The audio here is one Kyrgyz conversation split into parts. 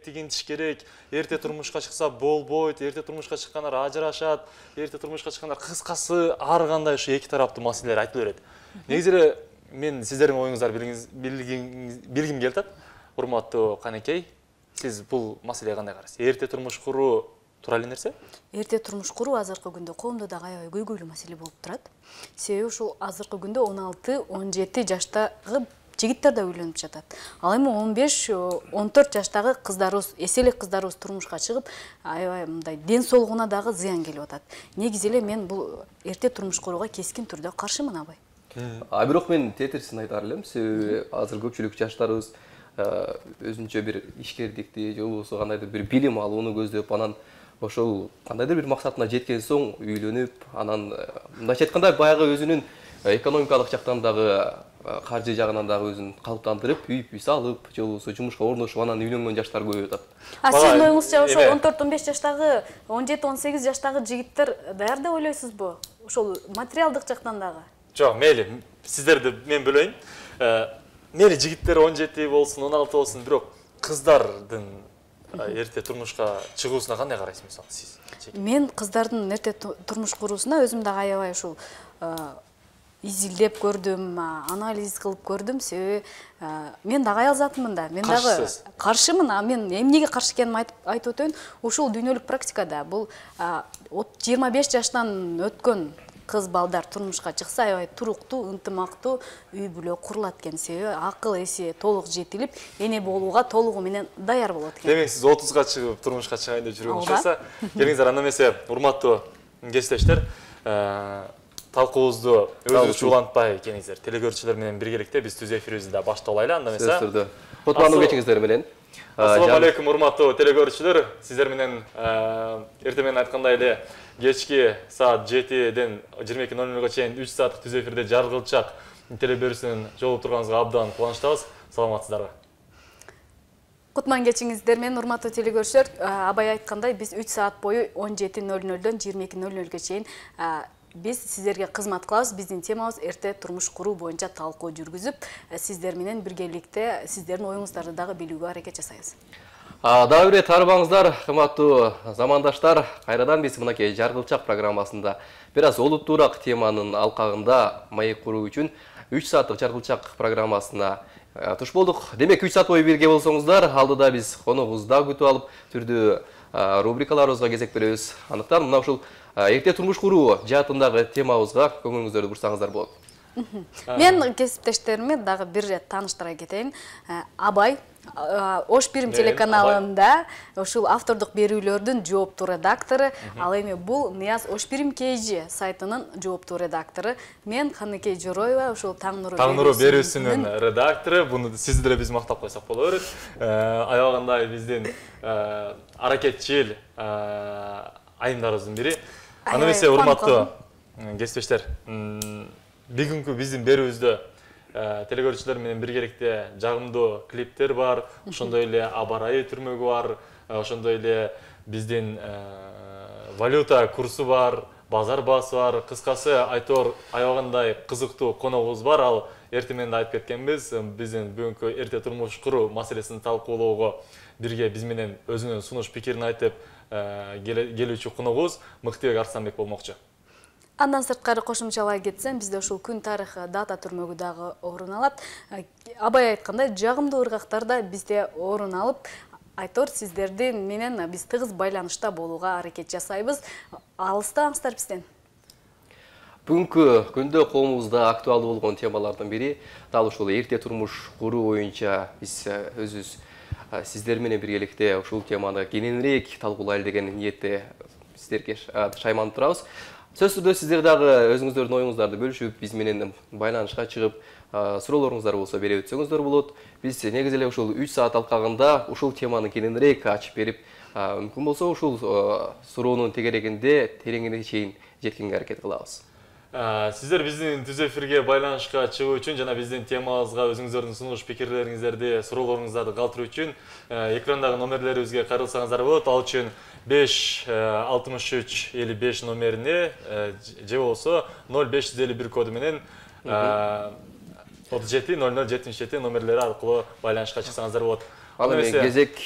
тигинтиш керек, эрте турмушка чыкса болбойт, эрте турмушка чыккандар ажырашат, эрте турмушка чыккандар, кыскасы ар кандай ушу эки тараптуу маселелер айтылып берет. Негизи эле мен сиздердин оюңуздарды билгим келип атат. Урматтуу Канекей, сиз бул маселеге кандай карайсыз? Эрте турмуш куруу тура эле нерсе? Эрте турмуш куруу азыркы күндө коомдо дагы аябай көйгөйлүү маселе болуп турат. Себеби ушул азыркы күндө 16-17 жаштагы жигиттер да үйлөнүп жатат. Ал эми 15-14 жаштагы кыздарыбыз, эселик кыздарыбыз турмушка чыгып, аябай мындай ден соолугуна дагы зыян келип атат. Негизи эле мен бул эрте турмуш курууга кескин түрдө каршымын, абай. Бирок мен тетерисин айтар элем. Себеби азыр көпчүлүк жаштарыбыз өзүнчө бир ишкердикти же болбосо кандайдыр бир билим алууну көздөп, анан ошол кандайдыр бир максатына жеткен соң үйлөнүп, анан мындайча айтканда баягы өзүнүн экономикалык жактан дагы, каржы жагынан дагы өзүн калыптандырып, үй салып, же болбосо жумушка орношуп, анан үйлөнгөн жаштар көп атат. Сиздин оюңузча ошол 14-15 жаштагы, 17-18 жаштагы жигиттер даяр деп ойлойсузбу? Ошол материалдык жактан дагы? Жок, мейли, сиздерди мен бөлөйүн. Мейли жигиттер 17 болсун, 16 болсун, бирок кыздардын эрте турмушка чыгуусуна кандай карайсыз мисалы сиз? Мен кыздардын эрте турмуш куруусуна өзүм дагы аябай ушул изилдеп көрдүм, анализ кылып көрдүм. Себеби мен дагы аял затымын да. Мен дагы каршымын. Мен эмнеге каршы экенимди айтып өтөйүн. Ушул дүйнөлүк практикада бул 25 жаштан өткөн кыз балдар турмушка чыкса аябай туруктуу, ынтымактуу үй бүлө курулат экен. Себеби акыл эси толук жетилип, эне болууга толугу менен даяр болот экен. Демек сиз 30га чыгып турмушка чыгайын деп жүргөн окшойсо, келиңиздер, анда эмесе урматтуу кесиптештер, талкуубузду өзүбүзчө улантпай келиңиздер. Телекөрүүчүлөр менен биргеликте биз түз эфирибизди да баштап алайлы, анда эмесе. Кутмандуу кечиңиздер менен. Ассаламу алейкум урматтуу телекөрүүчүлөр. Сиздер менен эртең менен айткандай эле кечки саат 7-ден 22:00-га чейин 3 сааттык түз эфирде жаргылчак телебөрүсүнөн жолугуп турганыбызга абдан кубанычтабыз. Саламатсыздарбы? Кутман кечиңиздер менен урматтуу телекөрүүчүлөр, абай айткандай биз 3 саат бою 17:00-дөн 22:00-га чейин биз сиздерге кызмат кылабыз. Биздин темабыз эрте турмуш куруу боюнча талкуу жүргүзүп, сиздер менен биргеликте сиздердин оюңуздарды дагы билүүгө аракет жасайбыз. Дагы бир тарбаңыздар, кымбаттуу замандаштар, кайрадан биз мынакей жаргылчак программасында бир аз олуттуураак теманын алкагында маек куруу үчүн 3 сааттык жаргылчак программасына туш болдук. Демек 3 саат бою бирге болсоңуздар, алдыда биз коногубузду да күтүп алып, түрдүү рубрикаларыбызга кезек беребиз. Андыктан мына ушул эрте турмуш куруу жаатындагы темабызга көңүлүңүздөрдү бурсаңыздар болот. Мен кесиптештериме дагы бир ирет тааныштыра кетейин. Абай Ош Пирим телеканалында ушул автордук берүүлөрдүн жооптуу редактору, ал эми бул Нияз Ош Пирим KG сайтынын жооптуу редактору. Мен Канекей Жороева, ушул Таң нуру берүүсүнүн редактору. Буну сизди деле биз мактап койсок боло берет. Аябагандай биздин аракетчил айымдарыбыздын бири. Аны эмесе урматтуу кесиптештер, бүгүнкү биздин берүүбүздө телекөрүүчүлөр менен биргеликте жагымдуу клиптер бар, ошондой эле аба ырайы түрмөгү бар, ошондой эле биздин валюта курсу бар, базар баасы бар. Кыскасы айтор аябагандай кызыктуу коногубуз бар. Ал эртең менен да айтып кеткенбиз, биздин бүгүнкү эрте турмуш куруу маселесин талкуулоого бирге биз менен өзүнүн сунуш пикирин айтып келүүчү коногубуз Мыктыбек Арсланбек болмокчу. Андан сырткары кошумчалай кетсем, бизде ушул күн тарыхы дата түрмөгү дагы орун алат. Абай айткандай, жагымдуу ыргактар да бизде орун алып, айтор сиздердин менен биз тыгыз байланышта болууга аракет жасайбыз. Алыстаңыздар бизден. Бүгүнкү күндө коомубузда актуалдуу болгон темалардын бири дал ушул эрте турмуш куруу боюнча биз өзүбүз сиздер менен биргеликте ушул теманы кененирээк талкуулайлы деген ниетте сиздерге шайманып турабыз. Сөзсүз түрдө сиздер дагы өзүңүздөрдүн оюңуздарды бөлүшүп, биз менен байланышка чыгып, суроолоруңуздар болсо бере өтсөңүздөр болот. Биз негизи эле ушул 3 саат алкагында ушул теманы кененирээк ачып берип, мүмкүн болсо ушул суроонун тегерегинде тереңине чейин жеткенге аракет кылабыз. Сиздер биздин түз эфирге байланышка чыгуу үчүн жана биздин темабызга өзүңүздөрдүн сунуш пикирлериңиздерди, суроолоруңуздарды калтыруу үчүн экрандагы номерлерибизге кайрылсаңыздар болот. Ал үчүн 56355 номерине же болсо 0551 коду менен 370077 номерлери аркылуу байланышка чыксаңыздар болот. Ал эми кезек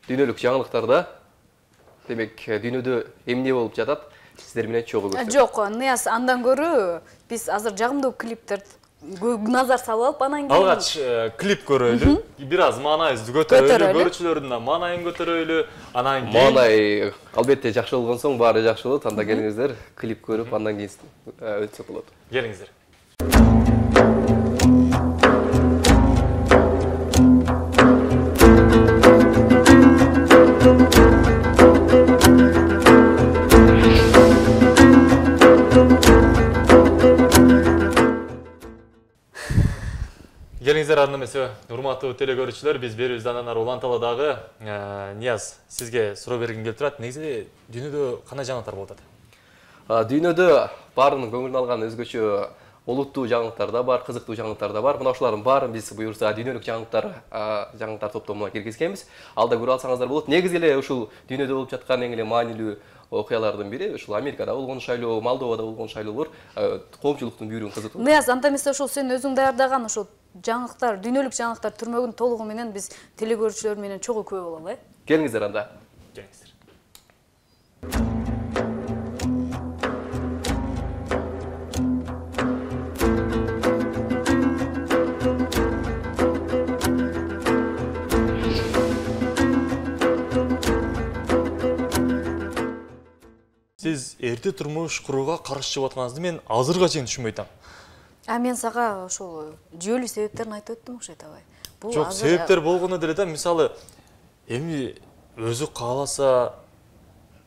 дүйнөлүк жаңылыктарда демек дүйнөдө эмне болуп жатат сиздер менен чогуу көрсөтөт. Жок, Нияз, андан көрө биз азыр жагымдуу клиптерди назар салып алып, анан кийин алгач клип көрөлү, бир аз маанайыбызды көтөрөлү, көрүүчүлөрдүн да маанайын көтөрөлү, анан кийин Маанай албетте жакшы болгон соң баары жакшы болот. Анда келиңиздер, клип көрүп, андан кийин өтсөк болот. келиңиздер. Келиңиздер, анда эмесе, урматтуу телекөрүүчүлөр, биз берүүбүздөн анан ары уланталы. Нияз, сизге суроо бергим келип турат. Негизи дүйнөдө кандай жаңылыктар болуп атат? Дүйнөдө баарынын көңүлүн алган өзгөчө олуттуу жаңылыктар да бар, кызыктуу жаңылыктар да бар. Мына ушулардын баарын биз буюрса дүйнөлүк жаңылыктар топтомуна киргизгенбиз. Алда көрүп алсаңыздар болот. Негизи эле ушул дүйнөдө болуп жаткан эң эле маанилүү окуялардын бири ушул Америкада болгон шайлоо, Молдовада болгон шайлоолор коомчулуктун бүйүрүн кызытып. Нияз, анда эмесе ушул сен өзүң даярдаган ушул жаңылыктар, дүйнөлүк жаңылыктар түрмөгүн толугу менен биз телекөрүүчүлөр менен чогуу күбө бололу, Келиңиздер анда. Келиңиздер. Сиз эрте турмуш курууга каршы чыгып атканыңызды мен азырга чейин түшүнбөй атам. Мен сага ошол жүйөлүү себептерин айтып өттүм окшойт абай. Жок, себептер болгону деле да, мисалы эми өзү кааласа,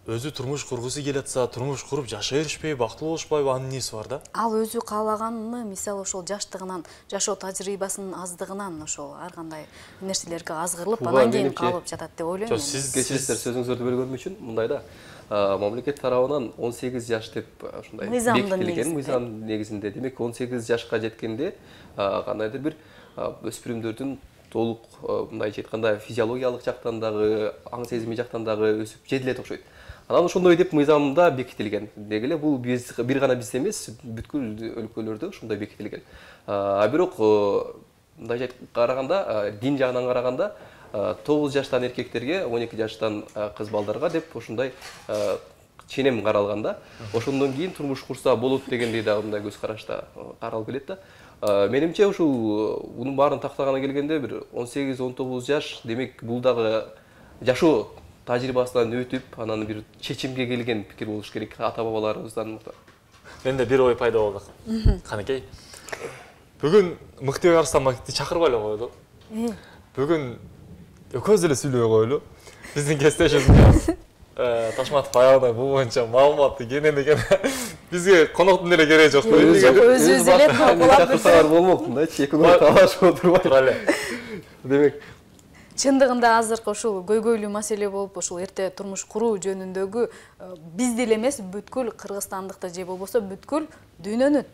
өзү турмуш кургусу келип атса, турмуш куруп жашай беришпейби, бактылуу болушпайбы, анын эмеси бар да. Ал өзү каалаганы, мисалы ошол жаштыгынан, жашоо тажрыйбасынын аздыгынан ошол ар кандай нерселерге азгырылып, анан кийин калып жатат деп ойлойм. Жок, сиз кечиресиздер, сөзүңүздөрдү бөлгөнүм үчүн мындай да. Мамлекет тарабынан 18 жаш деп ушундай бекитилген мыйзам негизинде. Демек 18 жашка жеткенде кандайдыр бир өспүрүмдөрдүн толук мындайча айтканда физиологиялык жактан дагы, аң сезими жактан дагы өсүп жетилет окшойт. Анан ошондой деп мыйзамда бекитилген. Деги эле бул бир гана бизде эмес, бүткүл өлкөлөрдө ошондой бекитилген. Бирок мындайча караганда, дин жагынан караганда 9 жаштан эркектерге, 12 жаштан кыз балдарга деп ошондой ченем каралган да. Ошондон кийин турмуш курса болот дегендей да мындай көз карашта каралып келет да. Менимче ушул мунун баарын тактаганы келгенде бир 18-19 жаш, демек бул дагы жашоо тажрыйбасынан өтүп, анан бир чечимге келген пикир болуш керек ата-бабаларыбыздан. Менде бир ой пайда болду. Канекей. Бүгүн Мыктыбек Арсланбековду чакырбай эле коелу. Бүгүн экөөбүз эле сүйлөй коелу. Биздин кесиптешибиз Ташматов аягында бул боюнча маалыматты кенен бизге коноктун деле кереги жок. Өзүбүз эле болот. Чакырсаңар болмок, мындайчы эки күн талашып отурбай. Тура эле. Демек чындыгында азыркы ушул көйгөйлүү маселе болуп, ушул эрте турмуш куруу жөнүндөгү бизди эле эмес, бүткүл кыргызстандыкты же болбосо бүткүл дүйнөнү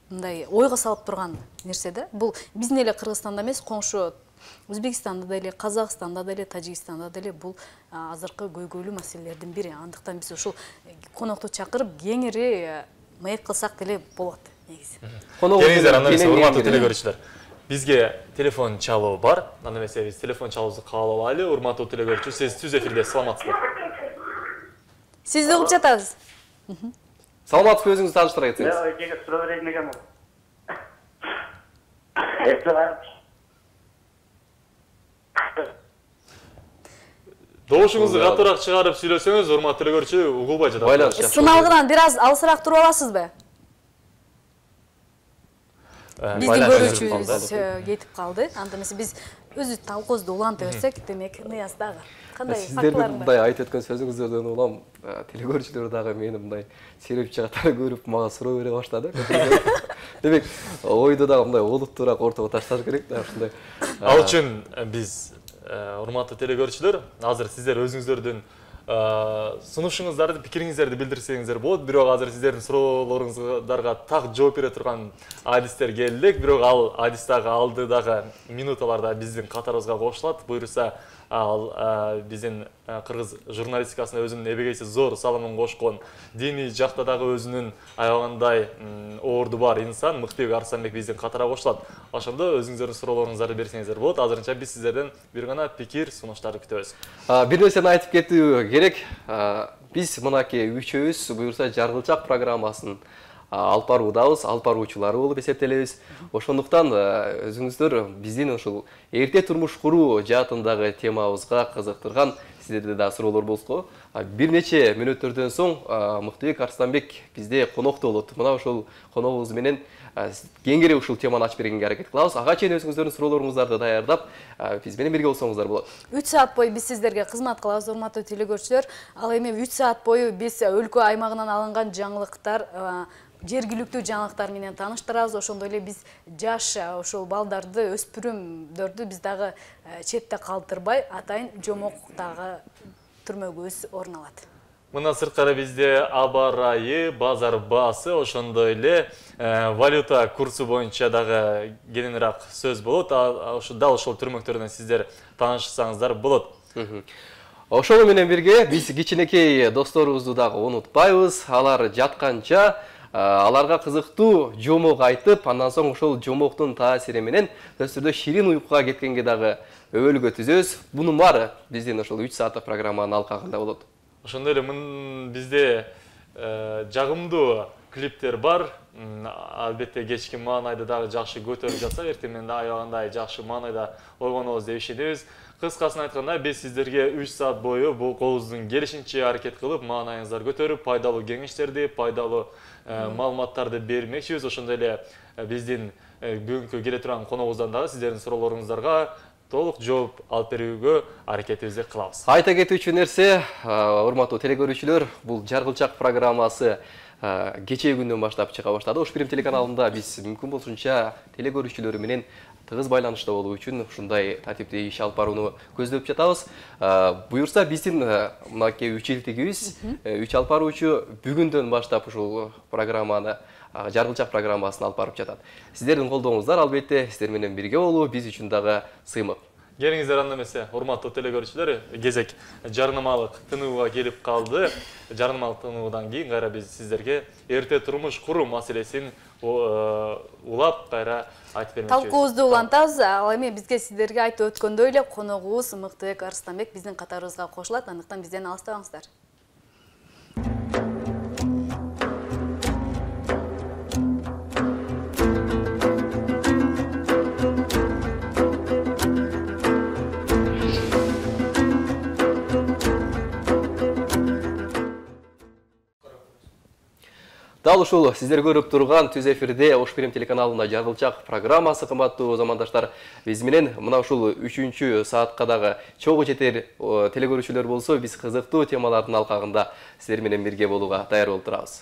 мындай ойго салып турган нерсе да. Бул биздин эле Кыргызстанда эмес, коңшу Өзбекстанда деле, Казакстанда деле, Тажикстанда деле бул азыркы көйгөйлүү маселелердин бири. Андыктан биз ушул конокту чакырып кеңири маек кылсак деле болот негизи. Келиңиздер, анда эмесе, урматтуу телекөрүүчүлөр. Бизге телефон чалуу бар. Анда эмесе биз телефон чалуубузду каалап алайлы. Урматтуу телекөрүүчү, сиз түз эфирде, саламатсызбы? Сизди угуп жатабыз. Саламатсызбы, өзүңүздү тааныштыра кетсеңиз. Эжеге суроо берейин дегем. Добушуңузду катуураак чыгарып сүйлөсөңүз, урматтуу телекөрүүчү, угулбай жатат. Сыналгынан бир аз алысыраак туруп аласызбы? Биздин көрүүчүбүз кетип калды. Анда эмесе биз өзү талкуубузду уланта берсек, демек Нияз дагы кандай фактылар бар? фактылар Мындай айтып өткөн сөзүңүздөрдөн улам телекөрүүчүлөр дагы мени мындай сереп чыгаттар көрүп мага суроо бере баштады. Демек, ойду дагы мындай олуттуураак ортого ташташ керек да, ушундай. Ал үчүн биз урматтуу телекөрүүчүлөр, азыр сиздер өзүңүздөрдүн сунушуңуздарды, пикириңиздерди билдирсеңиздер болот. Бирок азыр сиздердин суроолоруңуздарга так жооп бере турган адистер келдик. Бирок ал адис дагы алдыдагы минуталарда биздин катарыбызга кошулат. Буюрса, ал биздин кыргыз журналистикасына өзүнүн эбегейси зор салымын кошкон, диний жакта дагы өзүнүн аябагандай орду бар инсан Мыктыбек Арыстанбек биздин катара кошулат. Ошондо өзүңүздөрдүн суроолоруңуздарды берсеңиздер болот. Азырынча биз сиздерден бир гана пикир, сунуштарды күтөбүз. Бир нерсени айтып кетүү керек. Биз мынакей үчөөбүз буюрса Жаргылчак программасын алып баруудабыз, алып баруучулары болуп эсептелебиз. Ошондуктан өзүңүздөр биздин ушул эрте турмуш куруу жаатындагы темабызга кызыктырган сиздерде да суроолор болсо, бир нече мүнөттөрдөн соң Мыктыбек Арыстанбек бизде конокто болот. Мына ушул коногубуз менен кеңири ушул теманы ачып бергенге аракет кылабыз. Ага чейин өзүңүздөрдүн суроолоруңуздарды даярдап, биз менен бирге болсоңуздар болот. 3 саат бою биз сиздерге кызмат кылабыз, урматтуу телекөрүүчүлөр. Ал эми 3 саат бою биз өлкө аймагынан алынган жаңылыктар, жергиликтүү жаңылыктар менен тааныштырабыз. Ошондой эле биз жаш ошол балдарды, өспүрүмдөрдү биз дагы четте калтырбай, атайын жомоктагы түрмөгүбүз орун алат. Мына сырткары бизде аба ырайы, базар баасы, ошондой эле валюта курсу боюнча дагы кененирээк сөз болот. Дал ошол түрмөктөрдөн сиздер таанышсаңыздар болот. Ошол менен бирге биз кичинекей досторубузду дагы унутпайбыз. Алар жатканча аларга кызыктуу жомок айтып, андан соң ошол жомоктун таасири менен өстүрдө ширин уйкуга кеткенге дагы өбөлгө түзөбүз. Бунун баары биздин ошол 3 сааттык программанын алкагында болот. Ошондой эле бизде жагымдуу клиптер бар. Албетте кечки маанайды дагы жакшы көтөрүп жатсак, эртең менен аябагандай жакшы маанайда ойгонобуз деп ишенебиз. Кыскасын айтканда, биз сиздерге 3 саат бою бул колубуздун келишинче аракет кылып, маанайыңыздарды көтөрүп, пайдалуу кеңештерди, пайдалуу маалыматтарды бермекчибиз. Ошондой эле биздин бүгүнкү келе турган коногубуздан дагы сиздердин суроолоруңуздарга толук жооп алып берүүгө аракетибизди кылабыз. Айта кетүүчү нерсе, урматтуу телекөрүүчүлөр, бул Жаргылчак программасы кечээ күндөн баштап чыга баштады. Ош Бирим телеканалында биз мүмкүн болушунча телекөрүүчүлөр менен тыгыз байланышта болуу үчүн ушундай тартиптеги иш алып барууну көздөп жатабыз. Буюрса биздин мынакей 3 жылдыгыбыз, 3 алып баруучу бүгүндөн баштап ушул программаны Жаргылчак программасын алып барып жатат. Сиздердин колдооңуздар албетте сиздер менен бирге болуу биз үчүн дагы сыймык. Келиңиздер анда эмесе, урматтуу телекөрүүчүлөр, кезек жарнамалык тынууга келип калды. Жарнамалык тынуудан кийин кайра биз сиздерге эрте турмуш куруу маселесин улап кайра айтып бермекчибиз. Талкуубузду улантабыз. Ал эми бизге сиздерге айтып өткөндөй эле коногубуз Мыктыбек Арыстанбек биздин катарыбызга кошулат. Андыктан бизден алыстабаңыздар. Дал ушул сиздер көрүп турган түз эфирде Ош Бирим телеканалында Жаргылчак программасы, кымбаттуу замандаштар. Биз менен мына ушул 3-чү саатка дагы чогуу жетер телекөрүүчүлөр болсо, биз кызыктуу темалардын алкагында сиздер менен бирге болууга даяр болуп турабыз.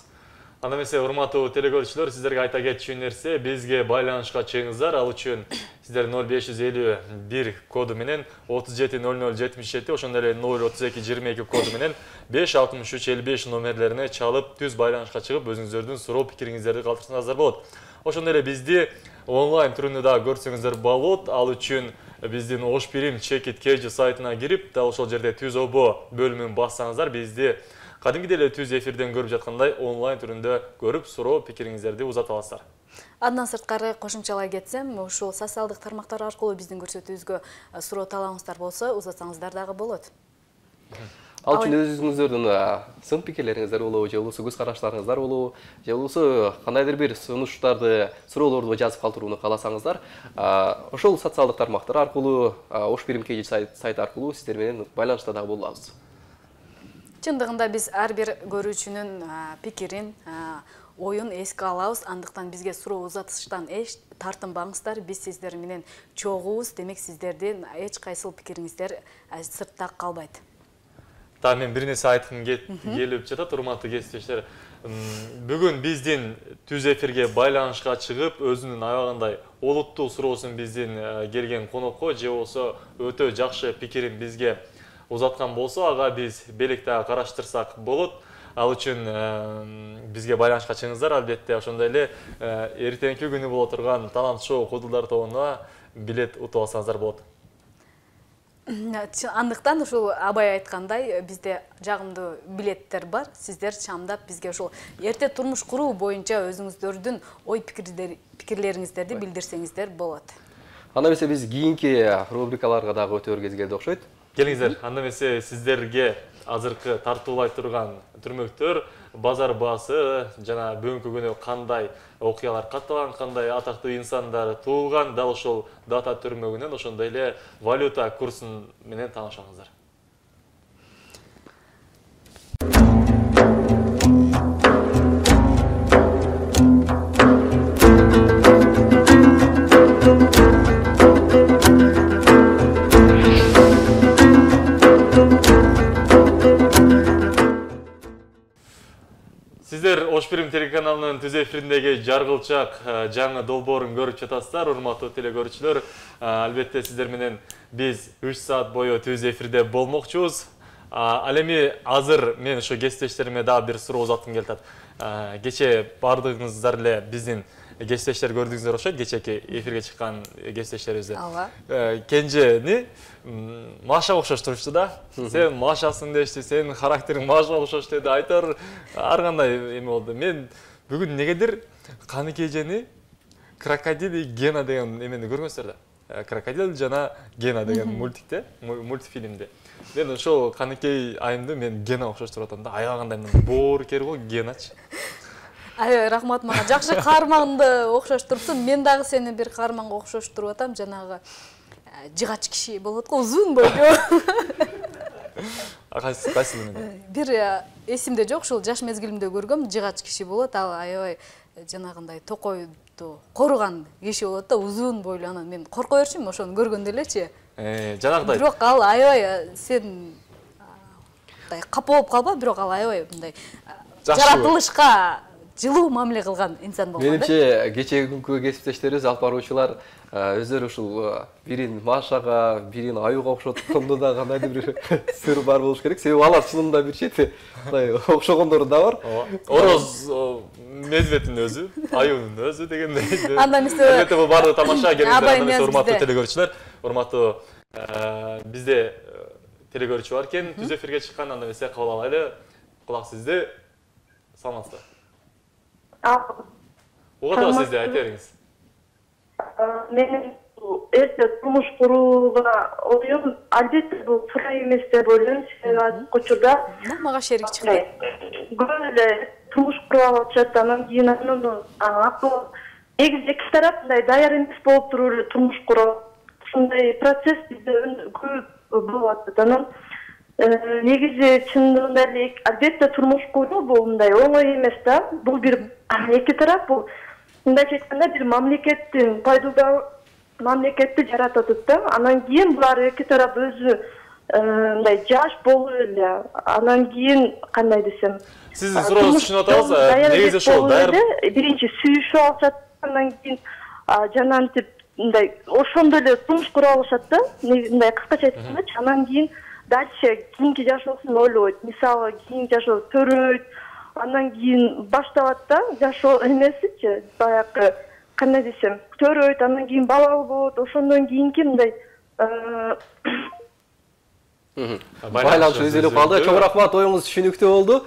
Анда эмесе, урматтуу телекөрүүчүлөр, сиздерге айта кетчү нерсе, бизге байланышка чыгыңыздар. Ал үчүн сиздер 0551 коду менен 370077, ошондой эле 03222 коду менен 56355 номерлерине чалып, түз байланышка чыгып, өзүңүздөрдүн суроо пикириңиздерди калтырсаңыздар болот. Ошондой эле бизди онлайн түрүндө дагы көрсөңүздөр болот. Ал үчүн биздин Ош Бирим Чекит KG сайтына кирип, дал ошол жерде түз обо бөлүмүн бассаңыздар, бизди кадимки эле түз эфирден көрүп жаткандай онлайн түрүндө көрүп, суроо пикириңиздерди узата аласыздар. Андан сырткары кошумчалай кетсем, ушул социалдык тармактар аркылуу биздин көрсөтүүбүзгө суроо талабыңыздар болсо, узатсаңыздар дагы болот. Ал үчүн өзүңүздөрдүн сын пикирлериңиздер болобу, же болбосо көз караштарыңыздар болобу, же болбосо кандайдыр бир сунуштарды, суроолорду жазып калтырууну кааласаңыздар, ошол социалдык тармактар аркылуу, Ош Бирим KG сайты аркылуу сиздер менен байланышта дагы боло алабыз. Чындыгында биз ар бир көрүүчүнүн пикирин, оюн эске алабыз. Андыктан бизге суроо узатыштан эч тартынбаңыздар. Биз сиздер менен чогуубуз, демек сиздердин эч кайсыл пикириңиздер сыртта калбайт. Та мен бир нерсе айткым келип жатат, урматтуу кесиптештер. Бүгүн биздин түз эфирге байланышка чыгып, өзүнүн аябагандай олуттуу суроосун биздин келген конокко же болсо өтө жакшы пикирин бизге узаткан болсо, ага биз белек дагы караштырсак болот. Ал үчүн бизге байланышка чыгыңыздар. Албетте, ошондой эле эртеңки күнү боло турган талант шоу Кудулдар тобуна билет утуп алсаңыздар болот. Андыктан ушул абай айткандай бизде жагымдуу билеттер бар. Сиздер чамдап бизге ушул эрте турмуш куруу боюнча өзүңүздөрдүн ой пикирлериңиздерди билдирсеңиздер болот. Анда эмесе биз кийинки рубрикаларга дагы өтөр кез келди окшойт. Келиңиздер, анда эмесе сиздерге азыркы тартуулай турган түрмөктөр базар баасы жана бүгүнкү күнү кандай окуялар катталган, кандай атактуу инсандар туулган, дал ошол дата түрмөгүнөн ошондой эле валюта курсун менен таанышаңыздар. Сиздер Ош Бирим телеканалынын түз эфириндеги жаргылчак жаңы долбоорун көрүп жатасыздар, урматтуу телекөрүүчүлөр. Албетте сиздер менен биз 3 саат бою түз эфирде болмокчубуз. Ал эми азыр мен ошо кесиптештериме дагы бир суроо узаткым келип атат. Кече баардыгыңыздар эле биздин кесиптештер көрдүңүздөр окшойт, кечеки эфирге чыккан кесиптештерибизди. Кенжени Машага окшош турчу да. Сен Машасың дешти, сенин характериң Машага окшош деди. Айтор ар кандай эме болду. Мен бүгүн негедир Каныкей эжени Крокодил и Гена деген эмени көргөнсүздөр да. Крокодил жана Гена деген мультикте, мультфильмде. Мен ошол Каныкей айымды мен Гена окшош туруп атам да. Аягандай боор кер го Геначы. Рахмат, мага жакшы каарманды окшош турупсуң. Мен дагы сени бир каарманга окшош туруп атам. Жанагы жыгач киши болот го, узун бойлуу. Кайсы мен? Бир эсимде жок, ушул жаш мезгилимде көргөм, жыгач киши болот. Ал аябай жанагындай токойду коруган киши болот да, узун бойлуу. Анан мен корко берчүмүн ошону көргөндө элечи. Жанагыдай. Бирок ал аябай сен капа болуп калба, бирок ал аябай мындай жаратылышка жылуу мамиле кылган инсан болгон. Менимче кечеги күнкү кесиптештерибиз, алып баруучулар өздөрү ушул бирин Машага, бирин Аюга окшоткондо да кандайдыр бир сыр бар болуш керек. Себеби алар чынында бир чети окшогондору да бар. Ороз медведтин өзү, Аюнун өзү дегендей. Андан эмесе албетте бул баардыгы тамаша. Келиңиздер, урматтуу телекөрүүчүлөр, урматтуу бизде телекөрүүчү бар экен, түз эфирге чыккан, анда эмесе кабыл алайлы. Кулак сизде. Саламатсыздар. Угуп атабыз сизди, айта бериңиз. Менин эрте турмуш курууга оюм албетте бул туура эмес деп ойлойм. Себеби азыркы учурда мага шерик чыкты. Көп эле турмуш куруп алышат, анан кийин негизи эки тарап мындай даяр эмес болуп туруп эле турмуш куруу. Ушундай процесс бизде көп болуп атат. Анан негизи чындыгында эле албетте турмуш куруу бул мындай оңой эмес да. Бул бир эки тарап, бул мындайча айтканда бир мамлекеттин пайдалуу мамлекетти жаратат да. Анан кийин булар эки тарап өзү мындай жаш болуп эле. Анан кийин кандай десем, сиздин сурооңузду түшүнүп атабыз. Негизи ошол даяр биринчи сүйүшүп алышат, андан кийин жанантип мындай ошондо эле турмуш куруп алышат да. Мындай кыскача айткандачы, анан кийин дальше кийинки жашоосун ойлойт. Мисалы, кийинки жашоо төрөйт, андан кийин башталат да жашоо эмесичи, баягы кандай десем, төрөйт, андан кийин балалы болот. Ошондон кийинки мындай байланыш үзүлүп калды. Чоң рахмат, оюңуз түшүнүктүү болду.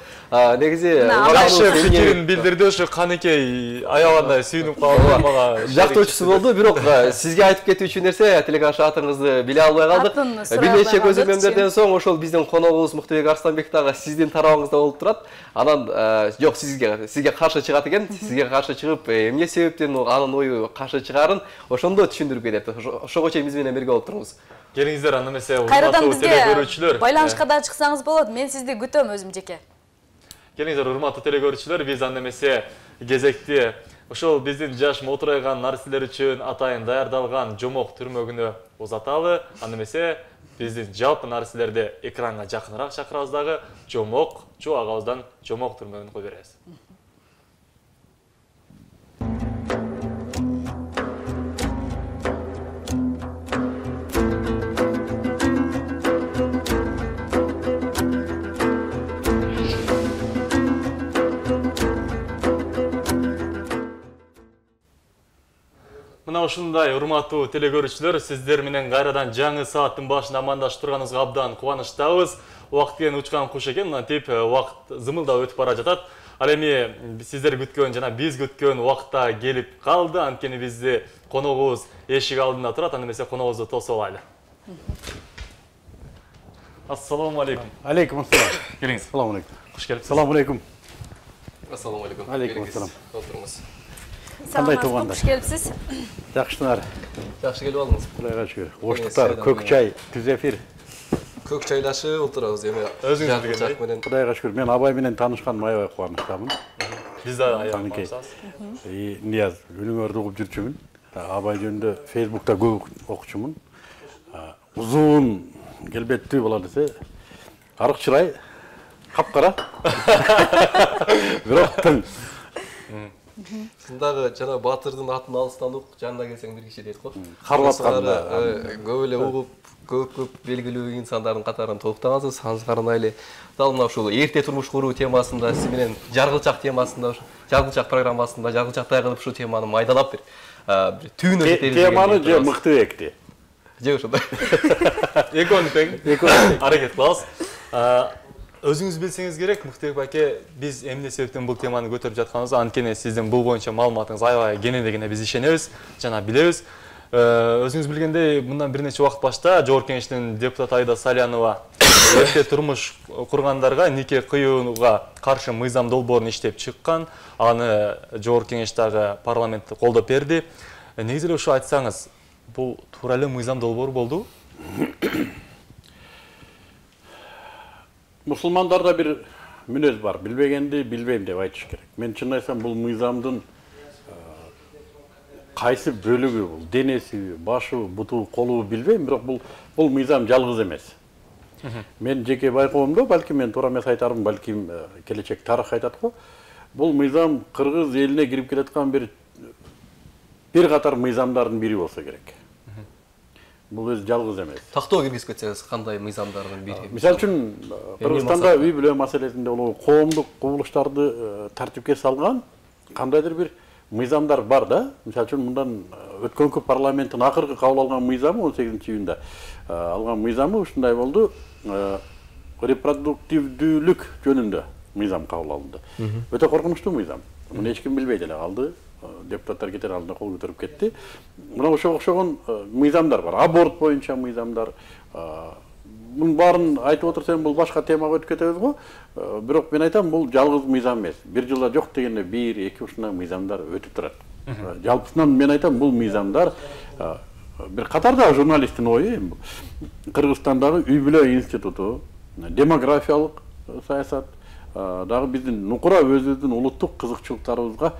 Негизи жакшы пикирин билдирди, ошо Каныкей аябагандай сүйүнүп калды, мага жактоочусу болду. Бирок сизге айтып кетүүчү нерсе, телекаша атыңызды биле албай калдык. Бир нече көзөмөлдөрдөн соң ошол биздин коногубуз Муктубек Арсланбек дагы сиздин тарабыңызда болуп турат. Анан жок, сизге каршы чыгат экен. Сизге каршы чыгып, эмне себептен анын ою каршы чыгарын ошондо түшүндүрүп берет. Ошого чейин биз менен бирге болуп туруңуз. Келиңиздер, анда эмесе урматтуу телекөрүүчүлөр. Байланышка да чыксаңыз болот. Мен сизди күтөм өзүм жеке. Келиңиздер, урматтуу телекөрүүчүлөр, биз анда эмесе кезекти ошол биздин жаш мотурайган нарселер үчүн атайын даярдалган жомок түрмөгүнө узаталы. Анда эмесе биздин жалпы нарселерди экранга жакыныраак чакырабыз дагы. Жомок, чу агабыздан жомок түрмөгүн кой беребиз. Мына ушундай урматтуу телекөрүүчүлөр, сиздер менен кайрадан жаңы сааттын башында амандашып турганыбызга абдан кубанычтабыз. Убакыт келген учкан куш экен, мынтип убакыт зымылдап өтүп бара жатат. Ал эми сиздер күткөн жана биз күткөн убакытта келип калды. Анткени бизди коногубуз эшик алдында турат. Аны эмесе коногубузду тосуп алайлы. Ассаламу алейкум. Алейкум ассалам. Келиңиз. Салам алейкум. Куш келипсиз. Салам алейкум. Ассаламу алейкум. Алейкум ассалам. Отуруңуз. Кандай туугандар? Куш келипсиз. Жакшысыңар. Жакшы келип алдыңыз. Кудайга шүгүр. Оштуктар, көк чай, түз эфир. Көк чайлашып отурабыз эми. Өзүңүз билгендей. менен. Кудайга шүгүр. Мен Абай менен таанышканыма аябай кубанычтамын. Биз да аябай кубанычтабыз. Нияз, үнүңөрдү угуп жүрчүмүн. Абай жөнүндө Facebook'та көп окучумун. Узун, келбеттүү бала десе, арык чырай, капкара. Бирок тың. Дагы жана Батырдын атын алыстан ук, жанына келсең бир киши дейт го. Карап атканда көп эле угуп, көп белгилүү инсандардын катарына толуктагансыз. Аңызгарына эле дал мына ушул эрте турмуш куруу темасында сиз менен жаргылчак темасында, жаргылчак программасында жаргылчактай кылып ушул теманы майдалап бир түйүнү теманы же мыктыбекти. Же ошондой. Экөөнү тең. Аракет кылабыз. Өзүңүз билсеңиз керек, Мыктыбек байке, биз эмне себептен бул теманы көтөрүп жатканыбызды, анткени сиздин бул боюнча маалыматыңыз аябай кененирээне биз ишенебиз жана билебиз. Өзүңүз билгендей, мындан бир нече убакыт башта Жогорку Кеңештин депутаты Айда Салянова эрте турмуш кургандарга нике кыюуга каршы мыйзам долбоорун иштеп чыккан. Аны Жогорку Кеңеш дагы парламентте колдоп берди. Негизи эле ушу айтсаңыз, бул туура эле мыйзам долбоор болду? Мусулмандарда бир мүнөз бар, билбегенди билбейм деп айтыш керек. Мен чын айтсам бул мыйзамдын кайсы бөлүгү бул, денеси, башы, буту, колу билбейм, бирок бул мыйзам жалгыз эмес. Мен жеке байкоомдо, балким мен туура эмес айтармын, балким келечек тарых айтат го. Бул мыйзам кыргыз элине кирип келаткан бир катар мыйзамдардын бири болсо керек. Бул өзү жалгыз эмес. Тактоо киргизип кетсеңиз, кандай мыйзамдардын бири? Мисалы үчүн, Кыргызстанда үй бүлө маселесинде коомдук кубулуштарды тартипке салган кандайдыр бир мыйзамдар бар да. Мисалы үчүн мындан өткөнкү парламенттин акыркы кабыл алган мыйзамы 18-июнда алган мыйзамы ушундай болду. Репродуктивдүүлүк жөнүндө мыйзам кабыл алынды. Өтө коркунучтуу мыйзам. Муну эч ким билбей деле калды. Депутаттар кетер алдында кол көтөрүп кетти. Мына ошого окшогон мыйзамдар бар. Аборт боюнча мыйзамдар. Мунун баарын айтып отурсам, бул башка темага өтүп кетебиз го. Бирок мен айтам, бул жалгыз мыйзам эмес. Бир жылда жок дегенде 1-2 ушундай мыйзамдар өтүп турат. Жалпысынан мен айтам, бул мыйзамдар бир катарда журналисттин ою, Кыргызстандагы үй бүлө институту, демографиялык саясат, дагы биздин нукура өзүбүздүн улуттук кызыкчылыктарыбызга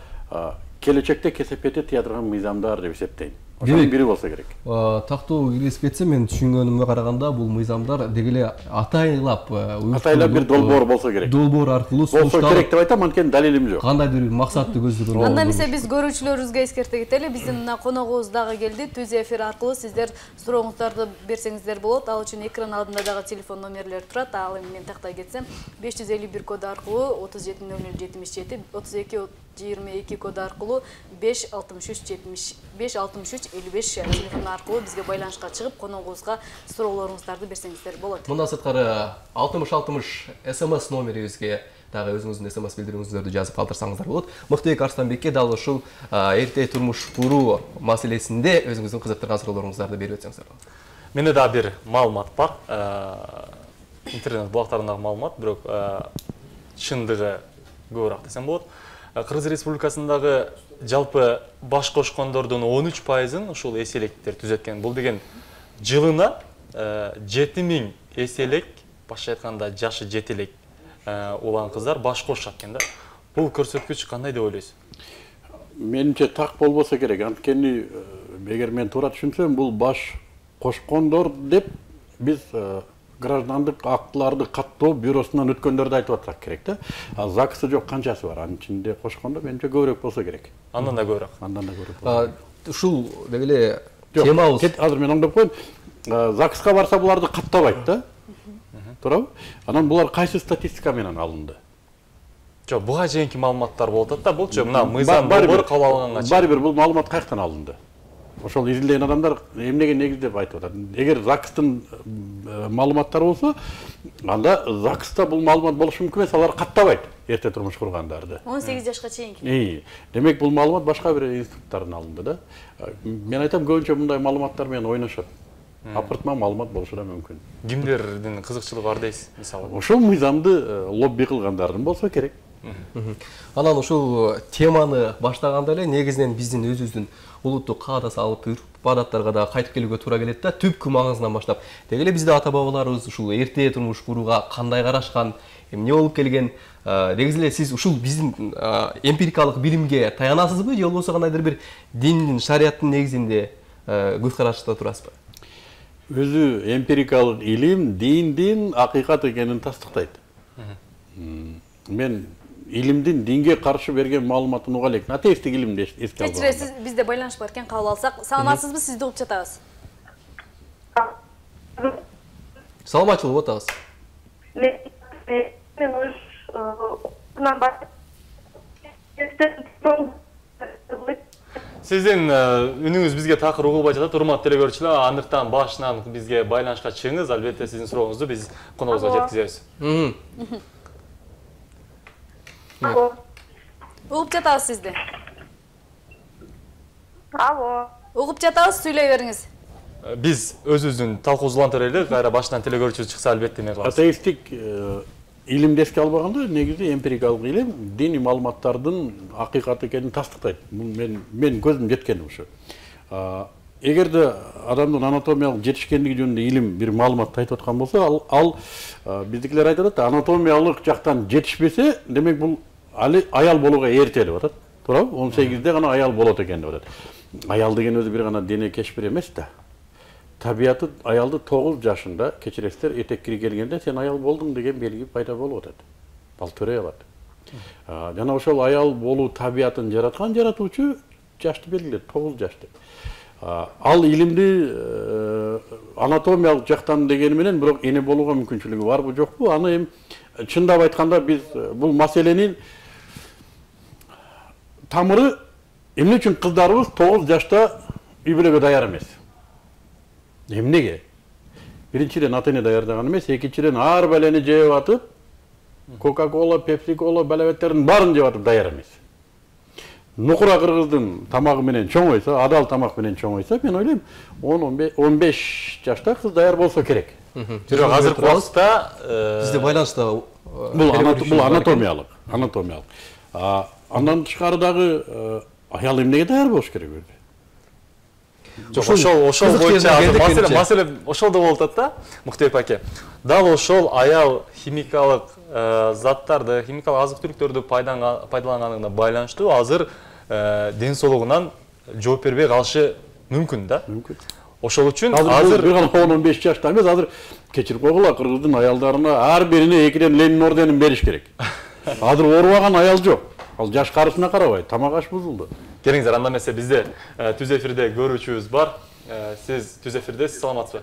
келечекте кесепетти тыя турган мыйзамдар деп эсептейм. Ошонун бири болсо керек. Тактоо киргизип кетсе, мен түшүнгөнүмгө караганда бул мыйзамдар деги эле атайлап бир долбоор болсо керек. Долбоор аркылуу болсо керек деп айтам, анткени далилим жок. Кандайдыр бир максатты көздөгөн. Анда эмесе биз көрүүчүлөрүбүзгө эскерте кетели. Биздин мына коногубуз дагы келди. Түз эфир аркылуу сиздер сурооңуздарды берсеңиздер болот. Ал үчүн экран алдында дагы телефон номерлери турат. Ал эми мен тактай кетсем, 551 коду аркылуу 370077, 3222 коду аркылуу 56355 телефон аркылуу бизге байланышка чыгып, коногубузга суроолоруңуздарды берсеңиздер болот. Мындан сырткары 6060 СМС номерибизге дагы өзүңүздүн СМС билдирүүңүздөрдү жазып калтырсаңыздар болот. Мыктыбек Арстанбекке дал ушул эрте турмуш куруу маселесинде өзүңүздүн кызыктырган суроолоруңуздарды берип өтсөңүздөр болот. Менде да бир маалымат бар. Интернет булактарындагы маалымат, бирок чындыгы көбүрөөк десем болот. Кыргыз Республикасындагы жалпы баш кошкондордун 13%-ын ушул эселектер түзөткөн. Бул деген жылына 7000 эселек, башка айтканда жашы жетелек улан кыздар баш кошушат экен да. Бул көрсөткүч кандай деп ойлойсуз? Менимче так болбосо керек. Анткени эгер мен туура түшүнсөм, бул баш кошкондор деп биз граждандык актыларды каттоо бюросунан өткөндөрдү айтып атсак керек да. ЗАГСы жок канчасы бар? Анын ичинде кошкондо менимче көбүрөөк болсо керек. Андан да көбүрөөк. Ушул деги эле темабыз. Азыр мен оңдоп коеюн. ЗАГСка барса буларды каттабайт да. Туурабы? Анан булар кайсы статистика менен алынды? Жок, буга чейинки маалыматтар болуп атат да, булчу мына мыйзам долбоор кабыл алынганга чейин. Баары бир бул маалымат каяктан алынды? ошол изилдеген адамдар эмнеге негиздеп айтып атат? Эгер ЗАГСтын маалыматтары болсо, анда ЗАГСта бул маалымат болушу мүмкүн эмес, алар каттабайт эрте турмуш кургандарды. 18 жашка чейинки. Демек бул маалымат башка бир институттардан алынды да. Мен айтам, көбүнчө мындай маалыматтар менен ойношот. Апыртма маалымат болушу да мүмкүн. Кимдердин кызыкчылыгы бар дейсиз, мисалы? Ошол мыйзамды лобби кылгандардын болсо керек. Анан ушул теманы баштаганда эле негизинен биздин өзүбүздүн улуттук каадат алып адаттарга да кайтып келүүгө туура келет да, түпкү магызынан баштап. Деги эле бизде ата бабаларыбыз ушул эрте турмуш курууга кандай карашкан, эмне болуп келген, негизи эле сиз ушул биздин эмпирикалык билимге таянасызбы, же болбосо кандайдыр бир диндин, шарияттын негизинде көз карашта турасызбы? Өзү эмпирикалык илим диндин акыйкат экенин тастыктайт. Мен илимдин динге каршы берген маалыматын уга элекмин. Атеисттик илимди эске алып. Кечиресиз, бизде байланыш бар экен, кабыл алсак. Саламатсызбы, сизди угуп жатабыз. Саламатчылык угуп атабыз. Сиздин үнүңүз бизге такыр угулбай жатат, урматтуу телекөрүүчүлөр. Андыктан башынан бизге байланышка чыгыңыз, албетте сиздин сурооңузду биз коногубузга жеткизебиз. Угуп жатабыз сизди. Алло. Угуп жатабыз, сүйлөй бериңиз. Биз өзүбүздүн талкуубузду улантып кайра башынан телекөрүүчү чыкса албетте эме кылабыз. Атеисттик илимди эске албаганда, негизи эмпирикалык илим диний маалыматтардын акыйкат экенин тастыктайт. Мен көзүм жеткен ушу. Эгерде адамдын анатомиялык жетишкендиги жөнүндө илим бир маалыматты айтып аткан болсо, ал биздикилер айтып атат, анатомиялык жактан жетишпесе, демек бул аял болууга эрте деп атат. Туурабы? 18де гана аял болот экен деп атат. Аял деген өзү бир гана дене кешпир эмес да. Табияты аялды 9 жашында, кечиресиздер, этеккири келгенде сен аял болдуң деген белги пайда болуп атат. Ал төрөй алат. Жана ошол аял болуу табиятын жараткан жаратуучу жашты белгилет, 9 жаш деп. Ал илимди анатомиялык жактан дегени менен бирок эне болууга мүмкүнчүлүгү барбы жокпу? Аны эми чындап айтканда биз бул маселенин тамыры эмне үчүн кыздарыбыз 9 жашта үй бүлөгө даяр эмес? Эмнеге? Биринчиден ата эне даярдаган эмес, экинчиден ар балени жеп атып, Кока-кола, Пепси-кола, балабеттердин баарын жеп атып даяр эмес. Нукура кыргыздын тамагы менен чоңойсо, адал тамак менен чоңойсо, мен ойлойм 10-15 жашта кыз даяр болсо керек. Бирок азыркы убакытта бизде байланышта бул анатомиялык. Андан тышкары дагы аял эмнеге даяр болуш керек өзү? Ошол боюнча маселе ошолдо болуп атат да, Муктебек аке. Дал ошол аял химикалык заттарды, химикалык азык-түлүктөрдү пайдаланганына байланыштуу азыр ден соолугунан жооп бербей калышы мүмкүн да. Мүмкүн. Ошол үчүн азыр бир гана 10-15 жашта эмес, азыр кечирип койгула, кыргыздын аялдарына ар бирине 2ден Ленин орденин бериш керек. Азыр оорубаган аял жок. Ал жаш карысына карабайт, тамак аш бузулду. Келиңиздер, анда эмесе бизде түз эфирде көрүүчүбүз бар. Сиз түз эфирдесиз, саламатсызбы?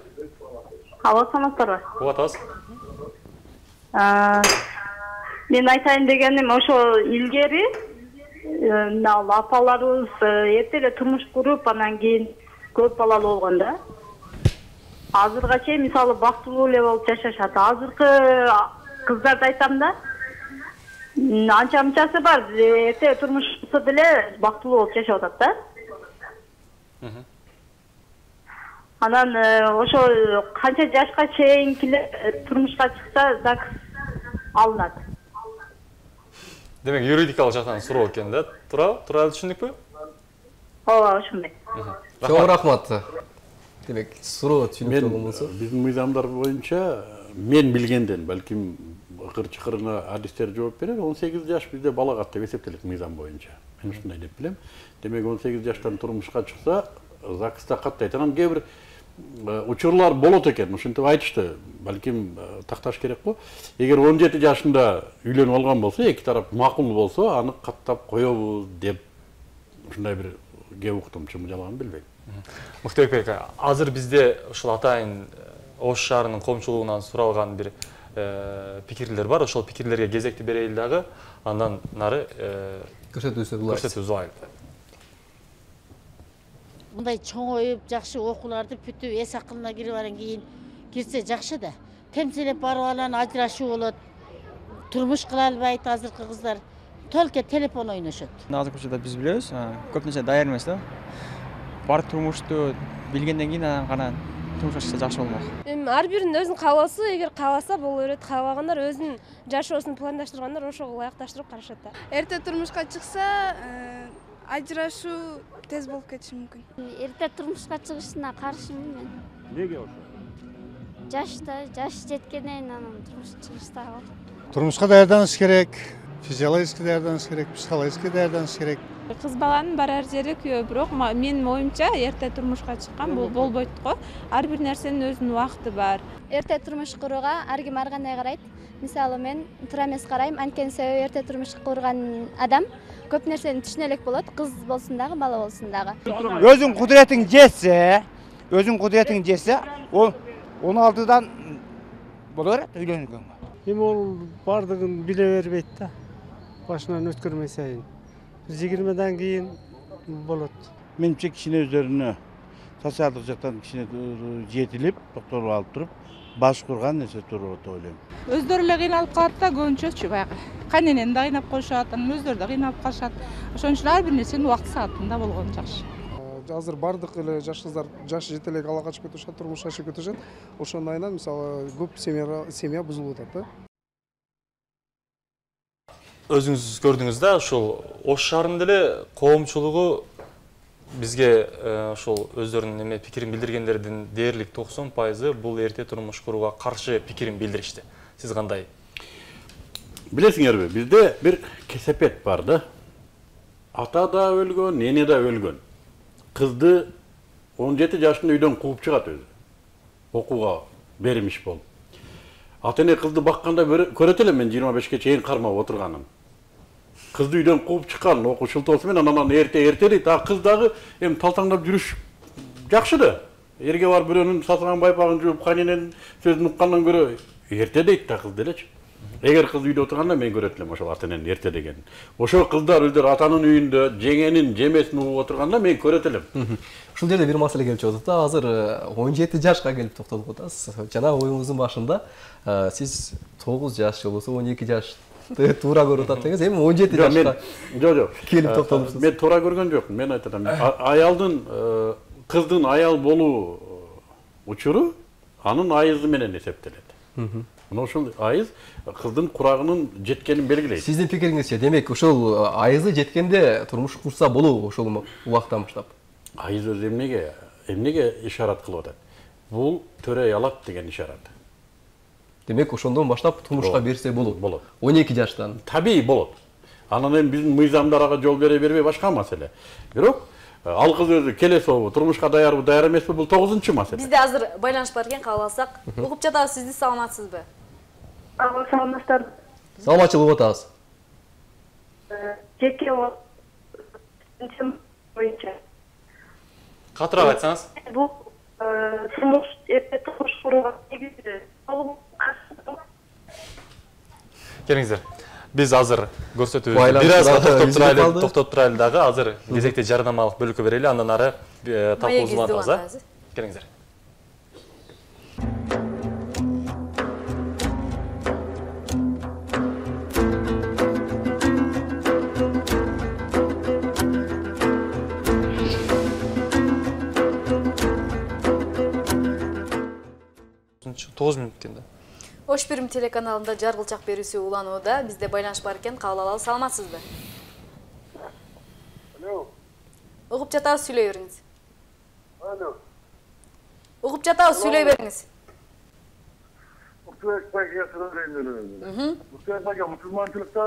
Алло, саламатсызбы? Угуп атабыз. Мен айтайын дегеним, ошо илгери апаларыбыз эрте эле турмуш куруп, анан кийин көп балалуу болгон да. Азырга чейин мисалы бактылуу эле болуп жашашат. Азыркы кыздарды айтам да, анча-мынчасы бар, эрте турмуш курса деле бактылуу болуп жашап атат да. Анан ошо канча жашка чейинкилер турмушка чыкса ЗАГС алынат. Демек юридикалык жактан суроо экен да, туура түшүндүкпү? Ооба, ошондой. Чоң рахмат. Демек суроо түшүнүктүү болсо. Биздин мыйзамдар боюнча мен билгенден, балким ыкыр-чыкырына адистер жооп берер, 18 жаш бизде балагат деп эсептелет мыйзам боюнча. Мен ушундай деп билем. Демек 18 жаштан турмушка чыкса, ЗАГСта каттайт. Анан кээ бир учурлар болот экен, ушинтип айтышты. Балким такташ керек го. Эгер 17 жашында үйлөнүп алган болсо, эки тарап макул болсо, аны каттап коебуз деп ушундай бир кеп уктум, чынбы жалган билбейм. Муктебек ака, азыр бизде ушул атайын Ош шаарынын коомчулугунан суралган бир пикирлер бар. Ошол пикирлерге кезекти берейли дагы, андан нары көрсөтүүбүз алайлы. мындай чоңоюп, жакшы окууларды бүтүп, эс акылына кирип анан кийин кирсе жакшы да. Темселеп барып алан ажырашуу болот. Турмуш кыла албайт азыркы кыздар. Только телефон ойношот. Азыркы учурда биз билебиз, көп нерсе даяр эмес да. Бар турмушту билгенден кийин анан гана турмушка чыкса жакшы болмок. Ар биринин өзүнүн каалоосу, эгер кааласа боло берет, каалабагандар өзүнүн жашоосун пландаштыргандар ошого ылайыкташтырып карашат да. Эрте турмушка чыкса, ажырашуу тез болуп кетиши мүмкүн. Эрте турмушка чыгышына каршымын мен. Неге ошо? Жаш жеткенден анан турмушка чыгыштагы. Турмушка даярданыш керек, физиологически даярданыш керек, психологически даярданыш керек. Кыз баланын барар жери күйөө, бирок менин оюмча эрте турмушка чыккан бул болбойт го. Ар бир нерсенин өзүнүн убакыты бар. Эрте турмуш курууга ар ким ар кандай карайт. Мисалы мен туура эмес карайм, анткени себеби эрте турмуш курган адам көп нерсени түшүнө элек болот, кыз болсун дагы, бала болсун дагы. Өзүң кудуретиң жетсе, ол 16-дан боло берет үйлөнгөнгө. Эми ол бардыгын биле бербейт да. Башынан өткөрмөй сайын. 20-дан кийин болот. Менимче кичине өздөрүнө социалдык жактан кичине жетилип, токтолуп алып туруп, баш курган нерсе туруу деп ойлойм. Өздөрү эле кыйналып калат да, көбүнчөчү баягы. Каненени да кыйнап коюшат, анан өздөрү да кыйналып калышат. Ошон үчүн ар бир нерсенин убакыт саатында болгону жакшы. Азыр бардык эле жаш кыздар жаш жете элек ала качып кетишет, турмуш ашып кетишет. Ошондон айынан мисалы көп семья бузулуп атат да. Өзүңүз көрдүңүз да, ушул Ош шаарынын деле коомчулугу бизге ошол өздөрүнүн эме пикирин билдиргендердин дээрлик 90% бул эрте турмуш курууга каршы пикирин билдиришти. Сиз кандай? Билесиңерби, бизде бир кесепет бар да. Ата да өлгөн, эне да өлгөн. Кызды 17 жашында үйдөн кууп чыгат өзү. Окууга бермиш болуп. Ата-эне кызды бакканда көрөт элем мен 25ке чейин кармап отурганын. Кызды үйдөн кууп чыккан окуу шылтоосу менен анан эртелейт. А кыз дагы эми талтаңдап жүрүш жакшы да. Эрге барып бирөөнүн сасыган байпагын жууп, каненен сөзүн уккандан көрө эрте дейт да кыз делечи. Эгер кыз үйдө отурганда мен көрөт элем ошол ата-эненин эрте дегенин. Ошол кыздар өздөрү атанын үйүндө жеңенин жемесин угуп отурганда мен көрөт элем. Ушул жерде бир маселе келип чыгат да. Азыр 17 жашка келип токтолуп атасыз. Жана оюңуздун башында сиз 9 жаш же болбосо 12 жаш туура көрүп атат дегенсиз. Эми 17 жашка жок. Келип токтолупсуз. Мен туура көргөн жокмун. Мен айтат атам. Аялдын кыздын аял болуу учуру анын айызы менен эсептелет. Мына ошол айыз кыздын курагынын жеткенин белгилейт. Сиздин пикириңизче, демек ошол айызы жеткенде турмуш курса болуу ошол убактан баштап. Айыз өзү эмнеге ишарат кылып атат? Бул төрөй алат деген ишарат. Демек ошондон баштап турмушка берсе болот. Болот. 12 жаштан. Табий болот. Анан эми биздин мыйзамдар ага жол бере бербей башка маселе. Бирок ал кыз өзү келесиби, турмушка даярбы, даяр эмеспи, бул 9-маселе. Бизде азыр байланыш бар экен, кабыл алсак. Угуп жатабыз, сизди саламатсызбы? Саламаттар. Саламатчылык атабыз. Жеке боюнча. Катыраак айтсаңыз. Бул эрте турмуш курууга негизи Келиңиздер. Биз азыр көрсөтүүбүздү бир аз токтоп турайлы дагы, азыр кезекте жарнамалык бөлүккө берели, андан ары талкуубузду улантабыз. Келиңиздер. Тоғыз минут кенде. Ош Бирим телеканалында жаргылчак берүүсү уланууда. Бизде байланыш бар экен, кабыл алалы. Саламатсызбы? Алло. Угуп жатабыз, сүйлөй бериңиз. Алло. Угуп жатабыз, сүйлөй бериңиз. Мусулманчылыкта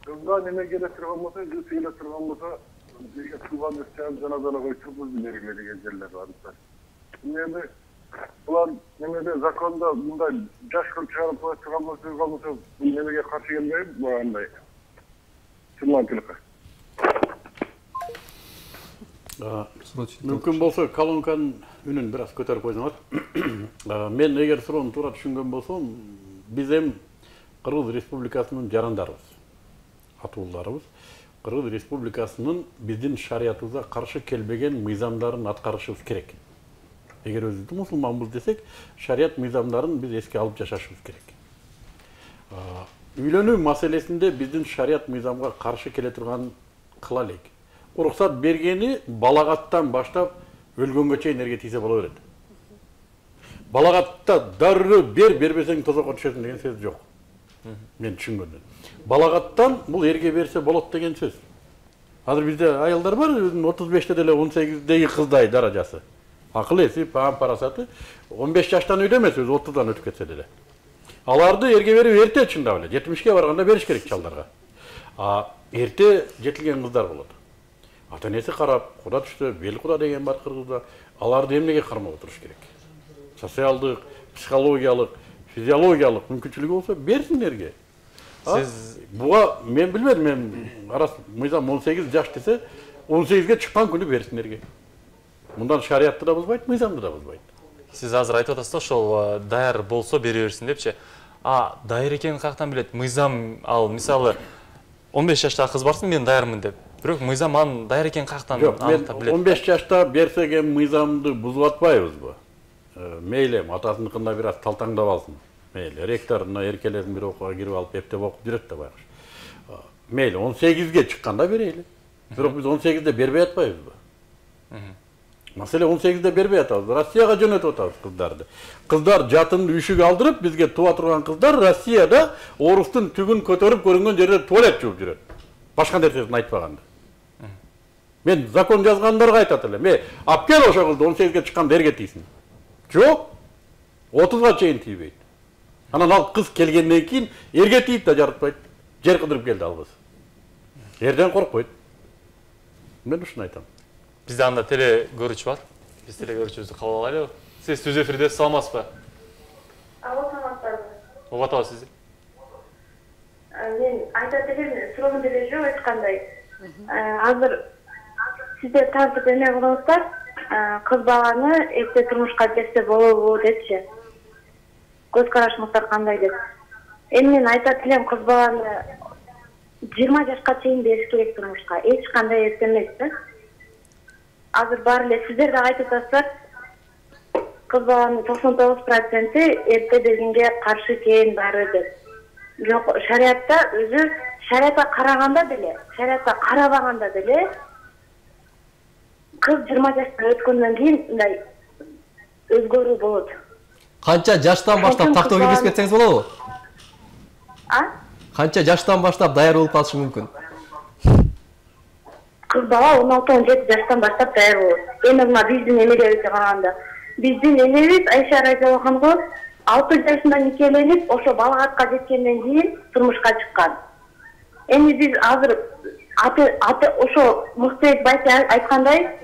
кызга неме келе турган болсо, келе турган болсо, бирге тууган өчөн жаназаны коюп бергиле деген жерлер бар. Эми булар немеде закондо мындай жаш кылып чыгарып коюп турган болсо, бул немеге каршы келбейби? Андай мусулманчылыкка. Мүмкүн болсо колонканын үнүн бир аз көтөрүп койсоңор. Мен эгер суроону туура түшүнгөн болсом, биз эми Кыргыз Республикасынын жарандарыбыз, атууларыбыз. Кыргыз Республикасынын биздин шариятыбызга каршы келбеген мыйзамдарын аткарышыбыз керек. Эгер өзүбүздү мусулманбыз десек, шарият мыйзамдарын биз эске алып жашашыбыз керек. Үйлөнүү маселесинде биздин шарият мыйзамга каршы келе турган кыла элек. Уруксат бергени балагаттан баштап өлгөнгө чейин эрге тийсе боло берет. Балагатта дароо бербесең тозокко түшөсүң деген сөз жок. Мен түшүнгөндөн. Балагаттан бул эрге берсе болот деген сөз. Азыр бизде аялдар бар, 35-те деле 18-деги кыздай даражасы. Акыл эси, парасаты 15 жаштан үйдө эмес, өзү 30-дан өтүп кетсе деле. Аларды эрге берип эрте чындап эле, 70-ке барганда бериш керек чалдарга. Эрте жетилген кыздар болот. Ата-энеси карап, куда түштө, бел куда деген бар кыргызда. Аларды эмнеге кармап отуруш керек? Социалдык, психологиялык, физиологиялык мүмкүнчүлүгү болсо берсин эрге. Сиз буга мен билбедим, мен мыйзам 18 жаш десе, 18-ге чыккан күнү берсин эрге. Мындан шариятты да бузбайт, мыйзамды да бузбайт. Сиз азыр айтып атасыз да, ошол даяр болсо бере берсин депчи. Даяр экенин каяктан билет? Мыйзам ал мисалы 15 жаштагы кыз барсын, мен даярмын деп. Бирок мыйзам анын даяр экенин каяктан аныктап билет? 15 жашта берсек эми мыйзамды бузуп атпайбызбы? Мейли атасыныкында бир аз талтаңдап алсын. Мейли ректоруна эркелесин, бир окууга кирип алып эптеп окуп жүрөт да байкуш. Мейли 18-ге чыкканда берели. Бирок биз 18-де бербей атпайбызбы? Маселе 18-де бербей атабыз. Россияга жөнөтүп атабыз кыздарды. Кыздар жатын үйшүгү алдырып, бизге туа турган кыздар Россияда орустун түгүн көтөрүп көрүнгөн жерде туалет жууп жүрөт. Башка нерсесин айтпаганда. Мен закон жазгандарга айтат элем. Алып кел ошо кызды 18-ге чыкканда эрге тийсин. Жок. 30-га чейин тийбейт. Анан ал кыз келгенден кийин эрге тийип да жарытпайт. Жер кыдырып келди ал кыз. Эрден коркпойт. Мен ушуну айтам. Бизде анда теле көрүүчү бар. Биз теле көрүүчүбүздү кабыл алайлыбы? Сиз түз эфирде, саламатсызбы? Саламатсызбы. Угуп атабыз сизди. Мен айтат элем, суроом деле жок эч кандай. Азыр сиздер тартып эме кылыңыздар, кыз баланы эрте турмушка берсе болобу депчи. Көз карашыңыздар кандай деп. Эми мен айтат элем, кыз баланы 20 жашка чейин бериш керек турмушка. Эч кандай эрте эмес да. Азыр бар эле сиздер да айтып атасыздар, кыз баланын 99% эрте бергенге каршы экен баары деп. Жок, шариатта өзү шариатка караганда деле, шариатка карабаганда деле кыз 20 жаштан өткөндөн кийин мындай өзгөрүү болот. Канча жаштан баштап тактоо киргизип кетсеңиз болобу? Канча жаштан баштап даяр болуп калышы мүмкүн? Кыз бала 16-17 жаштан баштап даяр болот. Эми мына биздин эмелерибизге караганда, биздин энебиз Айша радиаллаху анха 6 жашында никеленип, ошо балагатка жеткенден кийин турмушка чыккан. Эми биз азыр аты ошо Муктебек байке айткандай,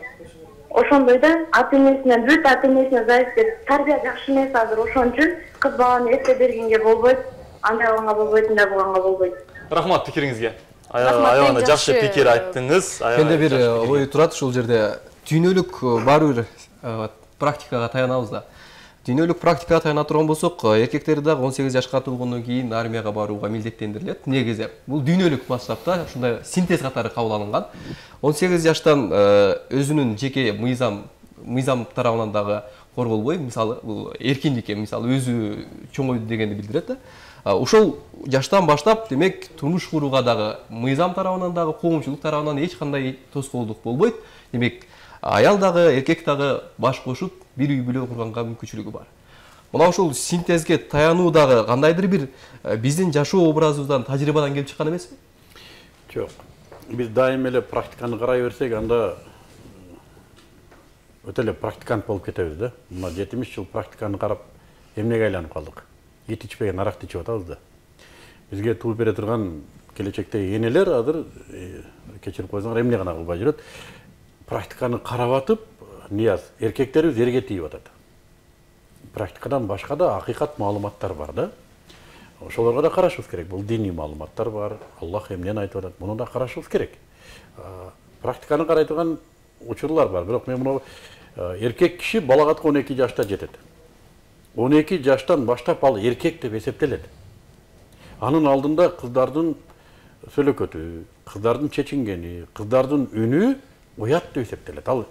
ошондой да ата-энесинен бүт, ата-энесине зависит деп, тарбия жакшы эмес азыр, ошон үчүн кыз баланы эрте бергенге болбойт, андай кылганга болбойт, мындай кылганга болбойт. Рахмат пикириңизге. Аябай жакшы пикир айттыңыз. Менде бир ой турат ушул жерде. Дүйнөлүк баары бир практикага таянабыз да. Дүйнөлүк практикага таяна турган болсок, эркектер дагы 18 жашка толгондон кийин армияга барууга милдеттендирилет. Негизи бул дүйнөлүк масштабта ушундай синтез катары кабыл алынган. 18 жаштан өзүнүн жеке мыйзам тарабынан дагы корголбой, мисалы бул эркиндикке, мисалы өзү чоңойду дегенди билдирет да. Ошол жаштан баштап, демек, турмуш курууга дагы мыйзам тарабынан дагы, коомчулук тарабынан эч кандай тоскоолдук болбойт. Демек, аял дагы, эркек дагы баш кошуп, бир үй бүлө курганга мүмкүнчүлүгү бар. Мына ушул синтезге таянуу дагы кандайдыр бир биздин жашоо образыбыздан, тажрыйбадан келип чыккан эмеспи? Жок. Биз дайым эле практиканы карай берсек, анда өтө эле практикант болуп кетебиз да. Мына 70 жыл практиканы карап, эмнеге айланып калдык? Ет ичпеген аракты ичип атабыз да. Бизге тууп бере турган келечектеги энелер азыр кечирип койсоңор эмне гана кылбай жүрөт. Практиканы карап атып, Нияз, эркектерибиз эрге тийип атат. Практикадан башка да акыйкат маалыматтар бар да. Ошолорго да карашыбыз керек. Бул диний маалыматтар бар. Аллах эмнени айтып атат, муну да карашыбыз керек. Практиканы карай турган учурлар бар. Бирок мен муну эркек киши балагатка 12 жашта жетет. 12 жаштан баштап ал эркек деп эсептелет. Анын алдында кыздардын сөйлөкөтү, кыздардын чечингени, кыздардын үнү уят деп эсептелет. Ал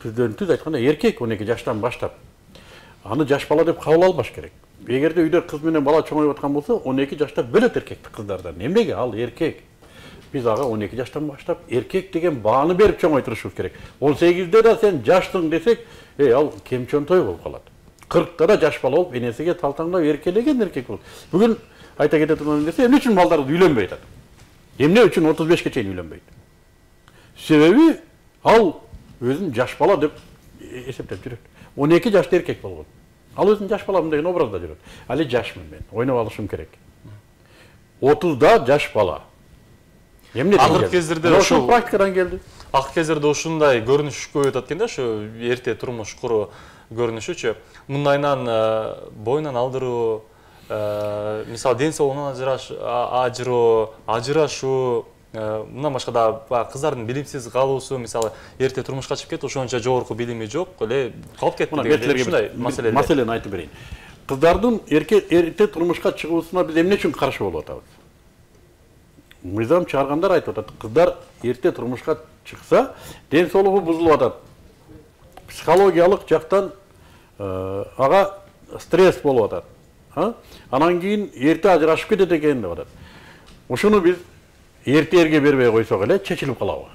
түз айтканда эркек 12 жаштан баштап аны жаш бала деп кабыл албаш керек. Эгерде үйдө кыз менен бала чоңоюп аткан болсо, 12 жашта бөлөт эркекти кыздардан. Эмнеге? Ал эркек. Биз ага 12 жаштан баштап эркек деген бааны берип чоңойтурушубуз керек. 18де да сен жаштың десек, ал кемчөнтөй болуп калат. 40та да жаш бала болуп, энесиге талтаңдап эркелеген эркек болот. Бүгүн айта кете турган нерсе, эмне үчүн балдар үйлөнбөй атат? Эмне үчүн 35ке чейин үйлөнбөйт? Себеби ал өзүн жаш бала деп эсептеп жүрөт. 12 жашта эркек болгон. Ал өзүн жаш баламын деген образда жүрөт. Али жашмын мен, ойноп алышым керек. 30да жаш бала. Эмне деген? Акыркы кездерде ошол практикадан келди. Акыркы кездерде ушундай көрүнүш көбөйүп атат экен да, ушу эрте турмуш куруу көрүнүшүчү. Мындайынан боюнан алдыруу, мисалы ден соолугунан ажырашуу, мындан башка да кыздардын билимсиз калуусу, мисалы эрте турмушка чыгып кетип, ошончо жогорку билими жок, эле калып кетти деген ушундай маселелер. Маселени айтып берейин. Кыздардын эрте турмушка чыгуусуна биз эмне үчүн каршы болуп атабыз? Мыйзам чыгаргандар айтып атат, кыздар эрте турмушка чыкса, ден соолугу бузулуп атат. Психологиялык жактан ага стресс болуп атат. Анан кийин эрте ажырашып кетет экен деп атат. Ушуну биз эртерге бербей койсок эле чечилип калабы?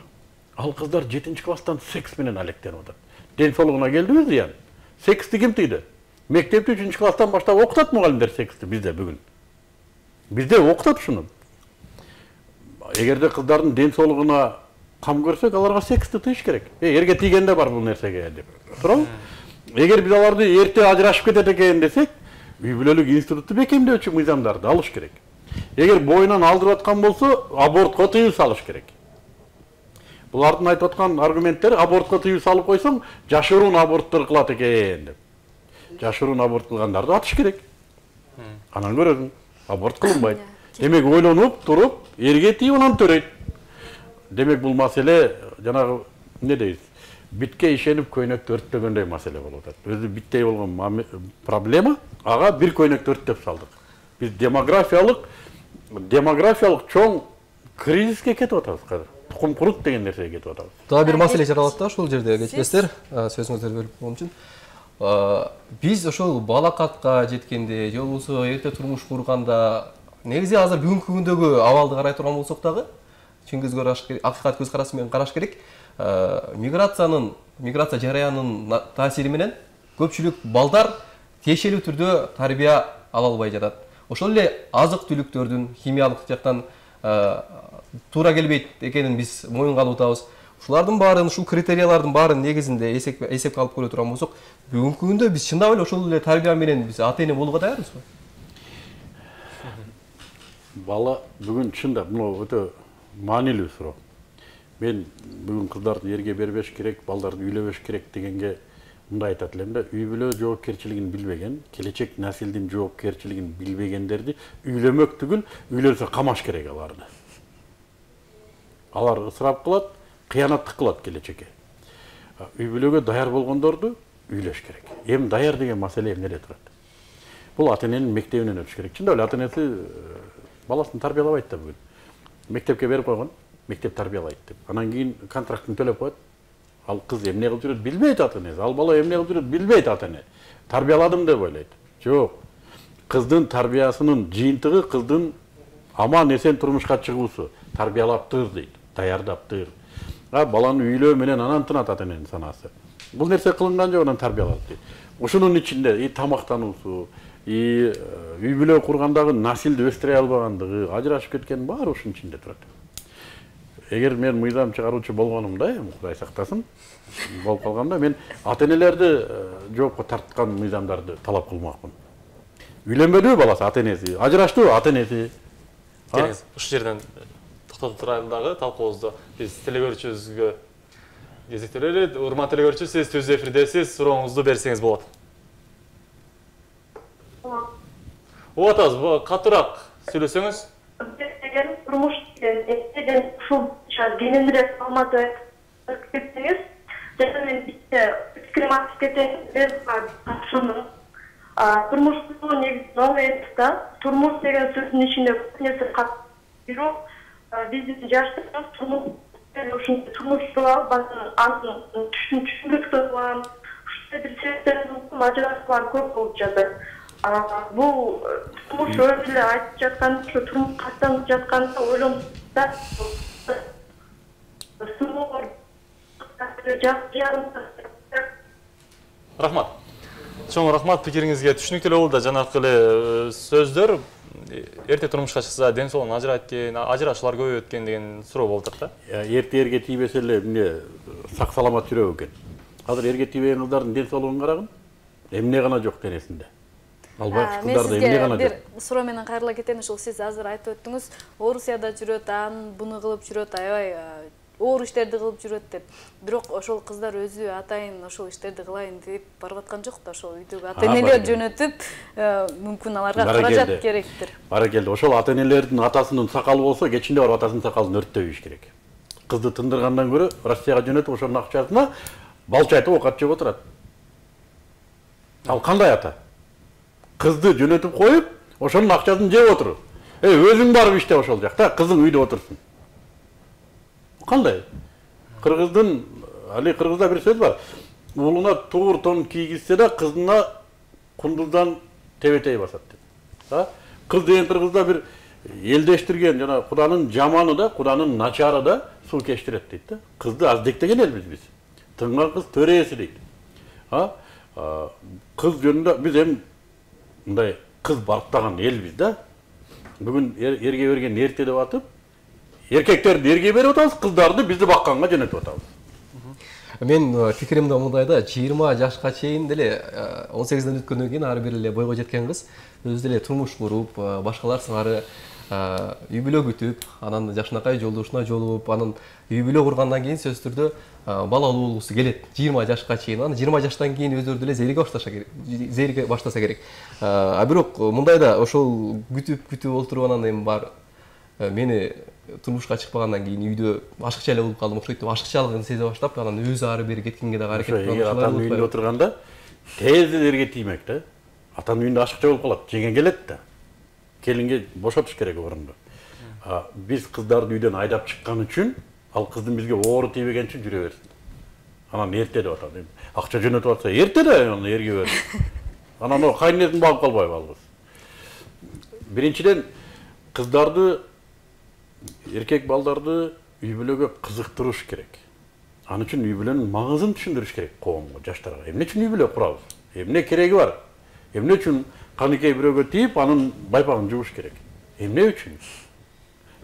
Ал кыздар 7-класстан секс менен алектенип атат. Ден соолугуна келдиби зыян? Сексти ким тыйды? Мектепти 3-класстан баштап окутат мугалимдер сексти бизде бүгүн. Бизде окутат ушуну. Эгерде кыздардын ден соолугуна кам көрсөк, аларга сексти тыйыш керек. Эрге тийгенде бар бул нерсеге деп. Туурабы? Эгер биз аларды эрте ажырашып кетет экен десек, үй бүлөлүк институтту бекемдөөчү мыйзамдарды алыш керек. Эгер боюнан алдырып аткан болсо, абортко тыюу салыш керек. Булардын айтып аткан аргументтери абортко тыюу салып койсоң, жашыруун аборттор кылат экен деп. Жашыруун аборт кылгандарды атыш керек. Анан көрөсүң, аборт кылынбайт. Демек ойлонуп туруп, эрге тийип анан төрөйт. Демек бул маселе жанагы эмне дейбиз? Битке ишенип көйнөктү өрттөгөндөй маселе болуп атат. Өзү биттей болгон проблема, ага бир көйнөктү өрттөп салдык. Биз демографиялык чоң кризиске кетип атабыз казыр. Тукум курук деген нерсеге кетип атабыз. Дагы бир маселе жаралат да ушул жерде кечпестер, сөзүңүздөрдү бөлүп койгон үчүн. Биз ошол балакатка жеткенде, же болбосо эрте турмуш курганда, негизи азыр бүгүнкү күндөгү абалды карай турган болсок дагы, чын көз караш керек, акыйкат көз карашы менен караш керек. Миграция жараянынын таасири менен көпчүлүк балдар тиешелүү түрдө тарбия ала албай жатат. Ошол эле азык-түлүктөрдүн химиялык жактан туура келбейт экенин биз моюнга алып атабыз. Ушулардын баарын, ушул критериялардын баарын негизинде эсепке алып көрө турган болсок, бүгүнкү күндө биз чындап эле ошол эле тарбия менен биз ата-эне болууга даярбызбы? Бала бүгүн чындап мына өтө маанилүү суроо. Мен бүгүн кыздарды эрге бербеш керек, балдарды үйлөбөш керек дегенге мындай айтат элем да, үй бүлө жоопкерчилигин билбеген, келечек насилдин жоопкерчилигин билбегендерди үйлөмөк түгүл, үйлөнсө камаш керек аларды. Алар ысырап кылат, кыянаттык кылат келечекке. Үй бүлөгө даяр болгондорду үйлөш керек. Эми даяр деген маселе эмнеде турат? Бул ата-эненин мектебинен өтүш керек. Чындап эле ата-энеси баласын тарбиялабайт да бүгүн. Мектепке берип койгон, мектеп тарбиялайт деп. Анан кийин контрактын төлөп коет. Ал кыз эмне кылып жүрөт билбейт ата-энеси. Ал бала эмне кылып жүрөт билбейт ата-эне. Тарбияладым деп ойлойт. Жок. Кыздын тарбиясынын жыйынтыгы кыздын аман эсен турмушка чыгуусу. Тарбиялаптыр дейт, даярдаптыр. Баланы үйлөө менен анан тынат ата-эненин санаасы. Бул нерсе кылынган жок, анан тарбиялат дейт. Ушунун ичинде тамактануусу, үй бүлө кургандагы насилди өстүрө албагандыгы, ажырашып кеткен баары ушунун ичинде турат. Эгер мен мыйзам чыгаруучу болгонумда, Кудай сактасын, болуп калганда мен ата-энелерди жоопко тарткан мыйзамдарды талап кылмакмын. Үйлөнбөдүбү баласы ата-энеси, ажыраштыбы ата-энеси. Келиңиз, ушул жерден токтотуп турайлы дагы талкуубузду биз телекөрүүчүбүзгө кезектелели. Урматтуу телекөрүүчү, сиз түз эфирдесиз, сурооңузду берсеңиз болот. Угуп атабыз, катуураак сүйлөсөңүз. Турмуш эстеген ушул кененирээк маалыматты кетсеңиз, жана мен бизде пикирим айтып кетейин. Турмуш негизи оңой эмес да. Турмуш деген сөздүн ичинде көп нерсе катып жүрүү, биздин жаштарыбыз турмуш кылып анын түшүндүрүктөр кылам. Ушундай бир себептерден ажырашуулар көп болуп жатат. Бул турмуш өзү эле айтып жаткан, ушу турмуш каттанып жатканда ойлонуп Рахмат. Чоң рахмат, пикириңизге түшүнүктүү болду. Жанакы эле сөздөр эрте турмушка чыкса ден соолугун ажырайт экен, ажырашуулар көбөйөт экен деген суроо болуп атат да. Эрте тийбесе эле эмне сак саламат жүрөк экен. Азыр эрге тийбеген кыздардын ден соолугун карагын. Эмне гана жок денесинде. Албай кыздарда эмне гана жок. Бир суроо менен кайрыла кетейин. Ушул сиз азыр айтып өттүңүз, Орусияда жүрөт, буну кылып жүрөт, аябай оор иштерди кылып жүрөт деп. Бирок ошол кыздар өзү атайын ошол иштерди кылайын деп барып аткан жок да, ошол үйдөгү ата-энелер жөнөтүп, мүмкүн аларга каражат керектир. Баракелде. Ошол ата-энелердин атасынын сакалы болсо, кечинде барып атасынын сакалын өрттөбүш керек. Кызды тындыргандан көрө Россияга жөнөтүп, ошонун акчасына балчы айтып оокат жеп отурат. Ал кандай ата? Кызды жөнөтүп коюп, ошонун акчасын жеп отур. Өзүң барып иште ошол жакта, кызың үйдө отурсун. Кандай? Кыргызда бир сөз бар. Уулуна туур тон кийгизсе да, кызына кундуздан тебетей басат деп. Кыз деген кыргызда бир элдештирген, жана Куданын жаманы да, Куданын начары да суу кештирет дейт да. Кызды аздектеген элбиз биз. Тынган кыз төрээси дейт. Кыз жөнүндө биз эми мындай кыз барктаган элбиз да. Бүгүн эрге берген эрте деп атып, эркектерди эрге берип атабыз, кыздарды бизди бакканга жөнөтүп атабыз. Мен пикиримде мындай да, 20 жашка чейин деле 18ден өткөндөн кийин ар бир эле бойго жеткен кыз өзү деле турмуш куруп, башкалар сыңары үй бүлө күтүп, анан жакшынакай жолдошуна жолугуп, анан үй бүлө кургандан кийин сөзсүз түрдө балалуу болгусу келет. 20 жашка чейин, анан 20 жаштан кийин өздөрү деле зериге баштаса керек. Бирок мындай да, ошол күтүп олтуруп анан эми бар мени турмушка чыкпагандан кийин үйдө ашыкча эле болуп калдым, ошойтип ашыкчалыгын сезе баштап, анан өзү ары бери кеткенге дагы аракет кылган. Атанын үйүндө отурганда тез эле тиймек да. Атанын үйүндө ашыкча болуп калат, жеңе келет да. Келинге бошотуш керек орунду. Биз кыздарды үйдөн айдап чыккан үчүн, ал кыздын бизге оору тийбеген үчүн жүрө берсин. Анан эрте деп атат. Акча жөнөтүп атса эрте да, аны эрге берсин. Анан о кайненесин багып калбайбы ал кыз. Биринчиден кыздарды, эркек балдарды үй бүлөгө кызыктырыш керек. Ал үчүн үй бүлөнүн маңызын түшүндүрүш керек коомго, жаштарга. Эмне үчүн үй бүлө курабыз? Эмне кереги бар? Эмне үчүн каныкей бирөөгө тийип, анын байпагын жууш керек? Эмне үчүн?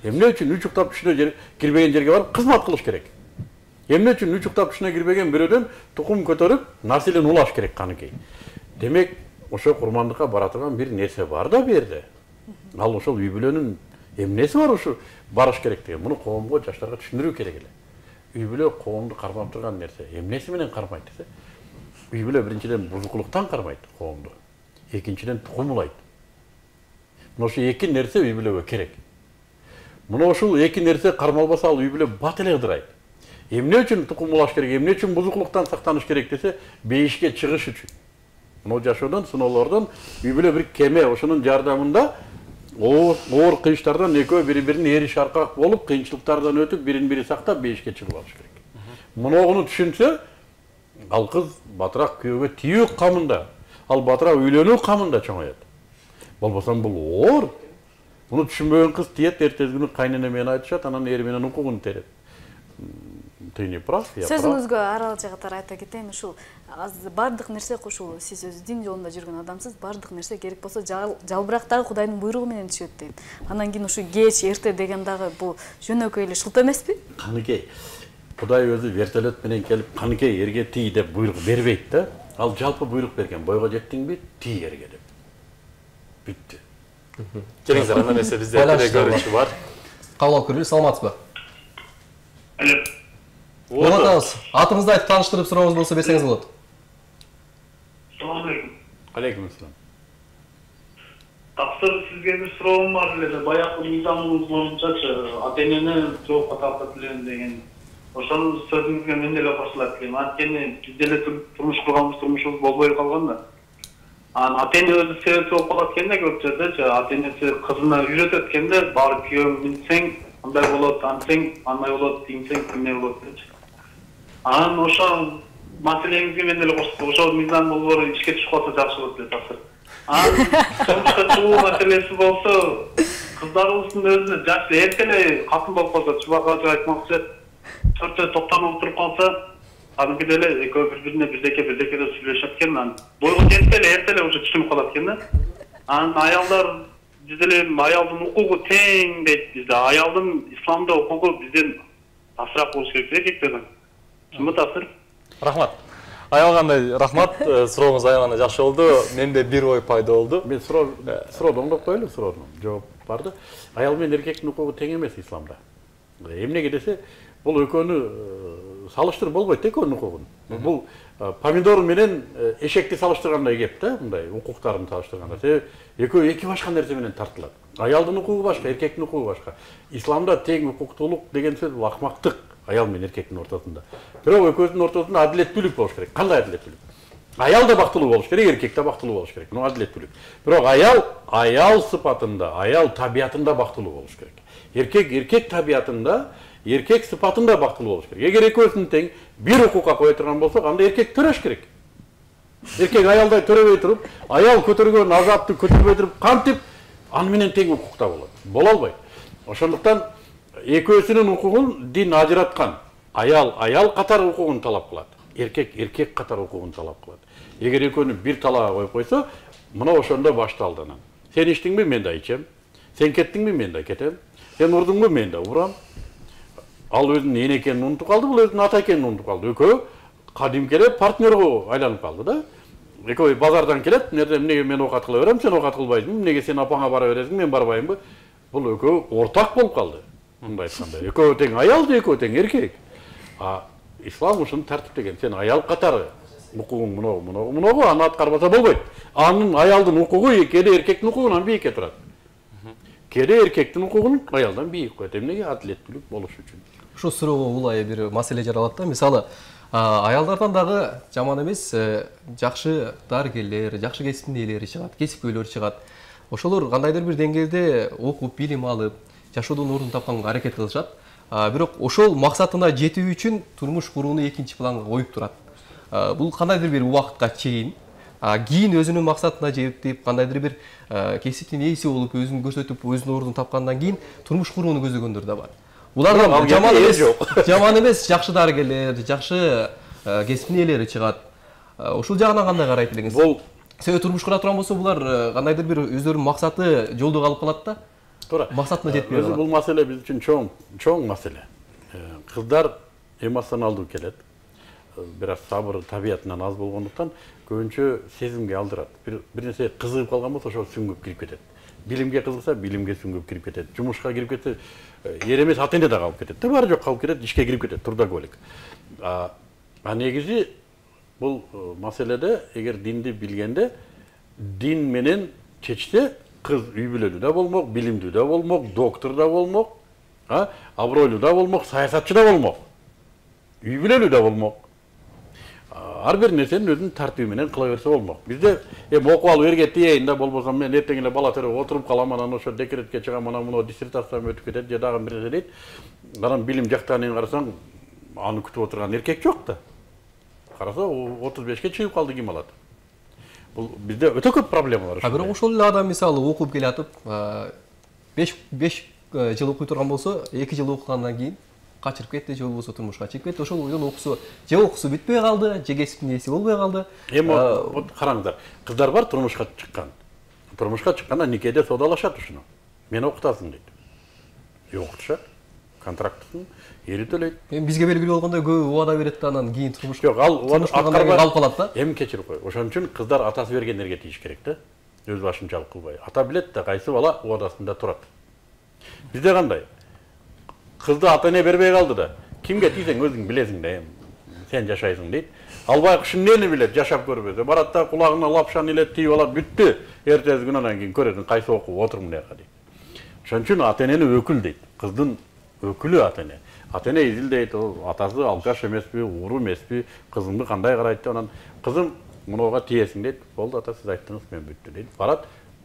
Эмне үчүн үчүктап түшүнө кирбеген жерге барып кызмат кылыш керек? Эмне үчүн үчүктап түшүнө кирбеген бирөөдөн тукум көтөрүп, населин улаш керек каныкей? Демек, ошо курмандыкка бара турган бир нерсе бар да берде. Ал ошол үй бүлөнүн эмнеси бар ушу барыш керек деген. Муну коомго, жаштарга түшүндүрүү керек эле. Үй бүлө коомду кармап турган нерсе. Эмнеси менен кармайт десе? Үй бүлө биринчиден бузукулуктан кармайт коомду. Экинчиден тукум улайт. Мына ошо эки нерсе үй бүлөгө керек. Мына ушул эки нерсе кармалбаса, ал үй бүлө бат эле ыдырайт. Эмне үчүн тукум улаш керек, эмне үчүн бузукулуктан сактаныш керек десе, бейишке чыгыш үчүн. Мына жашоодон, сыноолордон үй бүлө бир кеме, ошонун жардамында оор кыйыштардан экөө бири-бирин эриш аркак болуп, кыйынчылыктардан өтүп, бирин-бири сактап бейишке чыгып алыш керек. Мунуну түшүнсө, ал кыз батыраак күйөөгө тийүү камында, ал батыраак үйлөнүү камында чоңоет. Болбосо бул оор. Муну түшүнбөгөн кыз тиет, эртеси күнү кайнене менен айтышат, анан ери менен укугун терет. Ты не прав, я прав. Сөзүңүзгө арал жагатар айта кетейин, ушул бардык нерсе ушул сиз өзү дин жолунда жүргөн адамсыз, бардык нерсе керек болсо жалбырак дагы Кудайдын буйругу менен түшөт дейт. Андан кийин ушу кеч, эрте деген дагы бул жөнөкөй эле шылт эмеспи? Каныкей. Кудай өзү вертолет менен келип, каныкей эрге тий деп буйрук бербейт да. Ал жалпы буйрук берген. Бойго жеттиңби, тий эрге деп. Бүттү. Келиңиздер, андан эсе бизде көрүнүшү бар. Кабыл алып көрөлү, саламатсызбы? Алло. Улантабыз. Атыңызды айтып тааныштырып сурообуз болсо берсеңиз болот. Салам алейкум. Алейкум ассалам. Таксыр сизге бир суроом бар эле. Баягы мыйзамыңыз боюнчачы, ата-энени жоопко тартып элем деген. Ошонун сөзүңүзгө мен деле кошулат элем. Анткени биз деле турмуш курганбыз, турмушубуз болбой калган да. Ата-эне өзү себепчи болуп калат экенде көп жердечи. Ата-энеси кызына үйрөтөт экенде, барып күйөөң минсең, андай болот, антсең андай болот, тиңсең тиңне болот депчи. Анан ошол маселеңизге мен эле коштум. Ошол мыйзам долбоору ишке түшүп калса жакшы болот деп тапшыр. Анан турмушка чыгуу маселеси болсо, кыздарыбыздын өзүнө жаш эрте эле катын болуп калса, чубак айтмакчы, төртөө токтонуп туруп калса, аныкы деле экөө бири-бирине бирдеке деп сүйлөшөт экен. Анан бойго жетсе эле эрте эле уже түшүнүп калат экен да. Анан аялдар биз деле аялдын укугу тең дейт бизде. Аялдын исламда укугу бизден асыраак болуш керек эркектерден. Чынбы тапсыр? Рахмат. Аялгандай рахмат. Сурооңуз аябай жакшы болду. Менде бир ой пайда болду. Мен суроону оңдоп коелу, суроонун жооп бар да. Аял менен эркектин укугу тең эмес исламда. Эмнеге десе, бул экөөнү салыштырып болбойт да экөөнүн укугун. Бул помидор менен эшекти салыштыргандай кеп да, мындай укуктарын салыштырганда. Себеби экөө эки башка нерсе менен тартылат. Аялдын укугу башка, эркектин укугу башка. Исламда тең укуктуулук деген сөз бул акмактык аял менен эркектин ортосунда. Бирок экөөсүнүн ортосунда адилеттүүлүк болуш керек. Кандай адилеттүүлүк? Аял да бактылуу болуш керек, эркек да бактылуу болуш керек. Мына адилеттүүлүк. Бирок аял сыпатында, аял табиятында бактылуу болуш керек. Эркек табиятында, эркек сыпатында бактылуу болуш керек. Эгер экөөсүн тең бир укукка кое турган болсок, анда эркек төрөш керек. Эркек аялдай төрөбөй туруп, аял көтөргөн азапты көтөрбөй туруп, кантип аны менен тең укукта болот? Боло албайт. Ошондуктан экөөсүнүн укугун дин ажыраткан. Аял катар укугун талап кылат. Эркек катар укугун талап кылат. Эгер экөөнү бир талаага коюп койсо, мына ошондо башталды анан. Сен иштиңби, мен да ичем. Сен кеттиңби, мен да кетем. Сен урдуңбу, мен да урам. Ал өзүнүн эне экенин унутуп калды, бул өзүнүн ата экенин унутуп калды. Экөө кадимкеле партнерго айланып калды да. Экөө базардан келет, эмнеге мен оокат кыла берем, сен оокат кылбайсыңбы, эмнеге сен апаңа бара бересиң, мен барбаймбы? Бул экөө ортак болуп калды. Мындай айтканда, экөө тең аял же экөө тең эркек. Ислам ушуну тартиптеген. Сен аял катары укугуң муногу аны аткарбаса болбойт. Анын аялдын укугу кээде эркектин укугунан бийикке турат. Кээде эркектин укугун аялдан бийик коет. Эмнеге? Адилеттүүлүк болуш үчүн. Ушул суроого улай бир маселе жаралат да. Мисалы, аялдардан дагы жаман эмес жакшы дарыгерлер, жакшы кесиптин ээлери чыгат, кесипкөйлөр чыгат. Ошолор кандайдыр бир деңгээлде окуп, билим алып, жашоодон орун тапканга аракет кылышат. Бирок ошол максатына жетүү үчүн турмуш курууну экинчи планга коюп турат. Бул кандайдыр бир убакытка чейин кийин өзүнүн максатына жетип, кандайдыр бир кесиптин ээси болуп, өзүн көрсөтүп, өзүнүн ордун тапкандан кийин турмуш курууну көздөгөндөр да бар. Булардан жаман эмес, жакшы дарыгерлер, жакшы кесиптин ээлери чыгат. Ушул жагынан кандай карайт элеңиз? Бул себеби турмуш кура турган болсо, булар кандайдыр бир өздөрүнүн максаты жолдо калып калат да. Туура. Максатына жетпей калат. Бул маселе биз үчүн чоң маселе. Кыздар эмоционалдуу келет. Бир аз сабыр табиятынан аз болгондуктан көбүнчө сезимге алдырат. Бир нерсе кызыгып калган болсо ошол сүңгүп кирип кетет. Билимге кызыкса, билимге сүңгүп кирип кетет. Жумушка кирип кетсе, эр эмес ата эне да калып кетет. Баары жок калып кетет, ишке кирип кетет, трудоголик. Негизи бул маселеде эгер динди билгенде, дин менен чечсе, кыз үй бүлөлүү да болмок, билимдүү да болмок, доктор да болмок, абройлуу да болмок, саясатчы да болмок, үй бүлөлүү да болмок. Ар бир нерсени өзүнүн тартиби менен кыла берсе болмок. Бизде окуп алып эрге тиейин да, болбосо мен эртең эле бала төрөп отуруп калам, анан ошо декретке чыгам, анан муну диссертациям өтүп кетет, же дагы бир нерсе дейт. Анан билим жактан карасаң, аны күтүп отурган эркек жок да. Караса 35-ке чыгып калды, ким алат? Бул бизде өтө көп проблема бар. Бирок ошол эле адам мисалы окуп келатып, 5 жыл окуй турган болсо, 2 жыл окугандан кийин качырып кетти, же болбосо турмушка чыгып кетти. Ошол бойдон окусу бүтпөй калды, же кесиптин ээси болбой калды. Вот караңыздар, кыздар бар турмушка чыккан. Турмушка чыкканда никеде содалашат ушуну. Мени окутасың дейт. Окутушат. Контрактысын эри төлөйт. Бизге белгилүү болгондой көп убада берет да, анан кийин турмушка. Жок, ал аткарбай калып калат да. Эми кечирип кой. Ошон үчүн кыздар атасы бергендерге тийиш керек да. Өз башынчалык кылбай. Ата билет да кайсы бала убадасында турат. Бизде кандай? Кызды ата эне бербей калды да. Кимге тийсең өзүң билесиң да, сен жашайсың дейт. Албай эмнени билет, жашап көрбөсө. Барат да кулагына лапшаны илет, тийип алат, бүттү. Эртеси күнү анан кийин көрөсүң кайсы окуп отур мындайга дейт. Ошон үчүн ата энени өкүл дейт. Кыздын өкүлү ата эне. Ата эне изилдейт, атасы алкаш эмеспи, уру эмеспи, кызымды кандай карайт деп, анан кызым мунуга тиесиң дейт. Болду ата, сиз айттыңыз, мен бүттү дейт. Барат,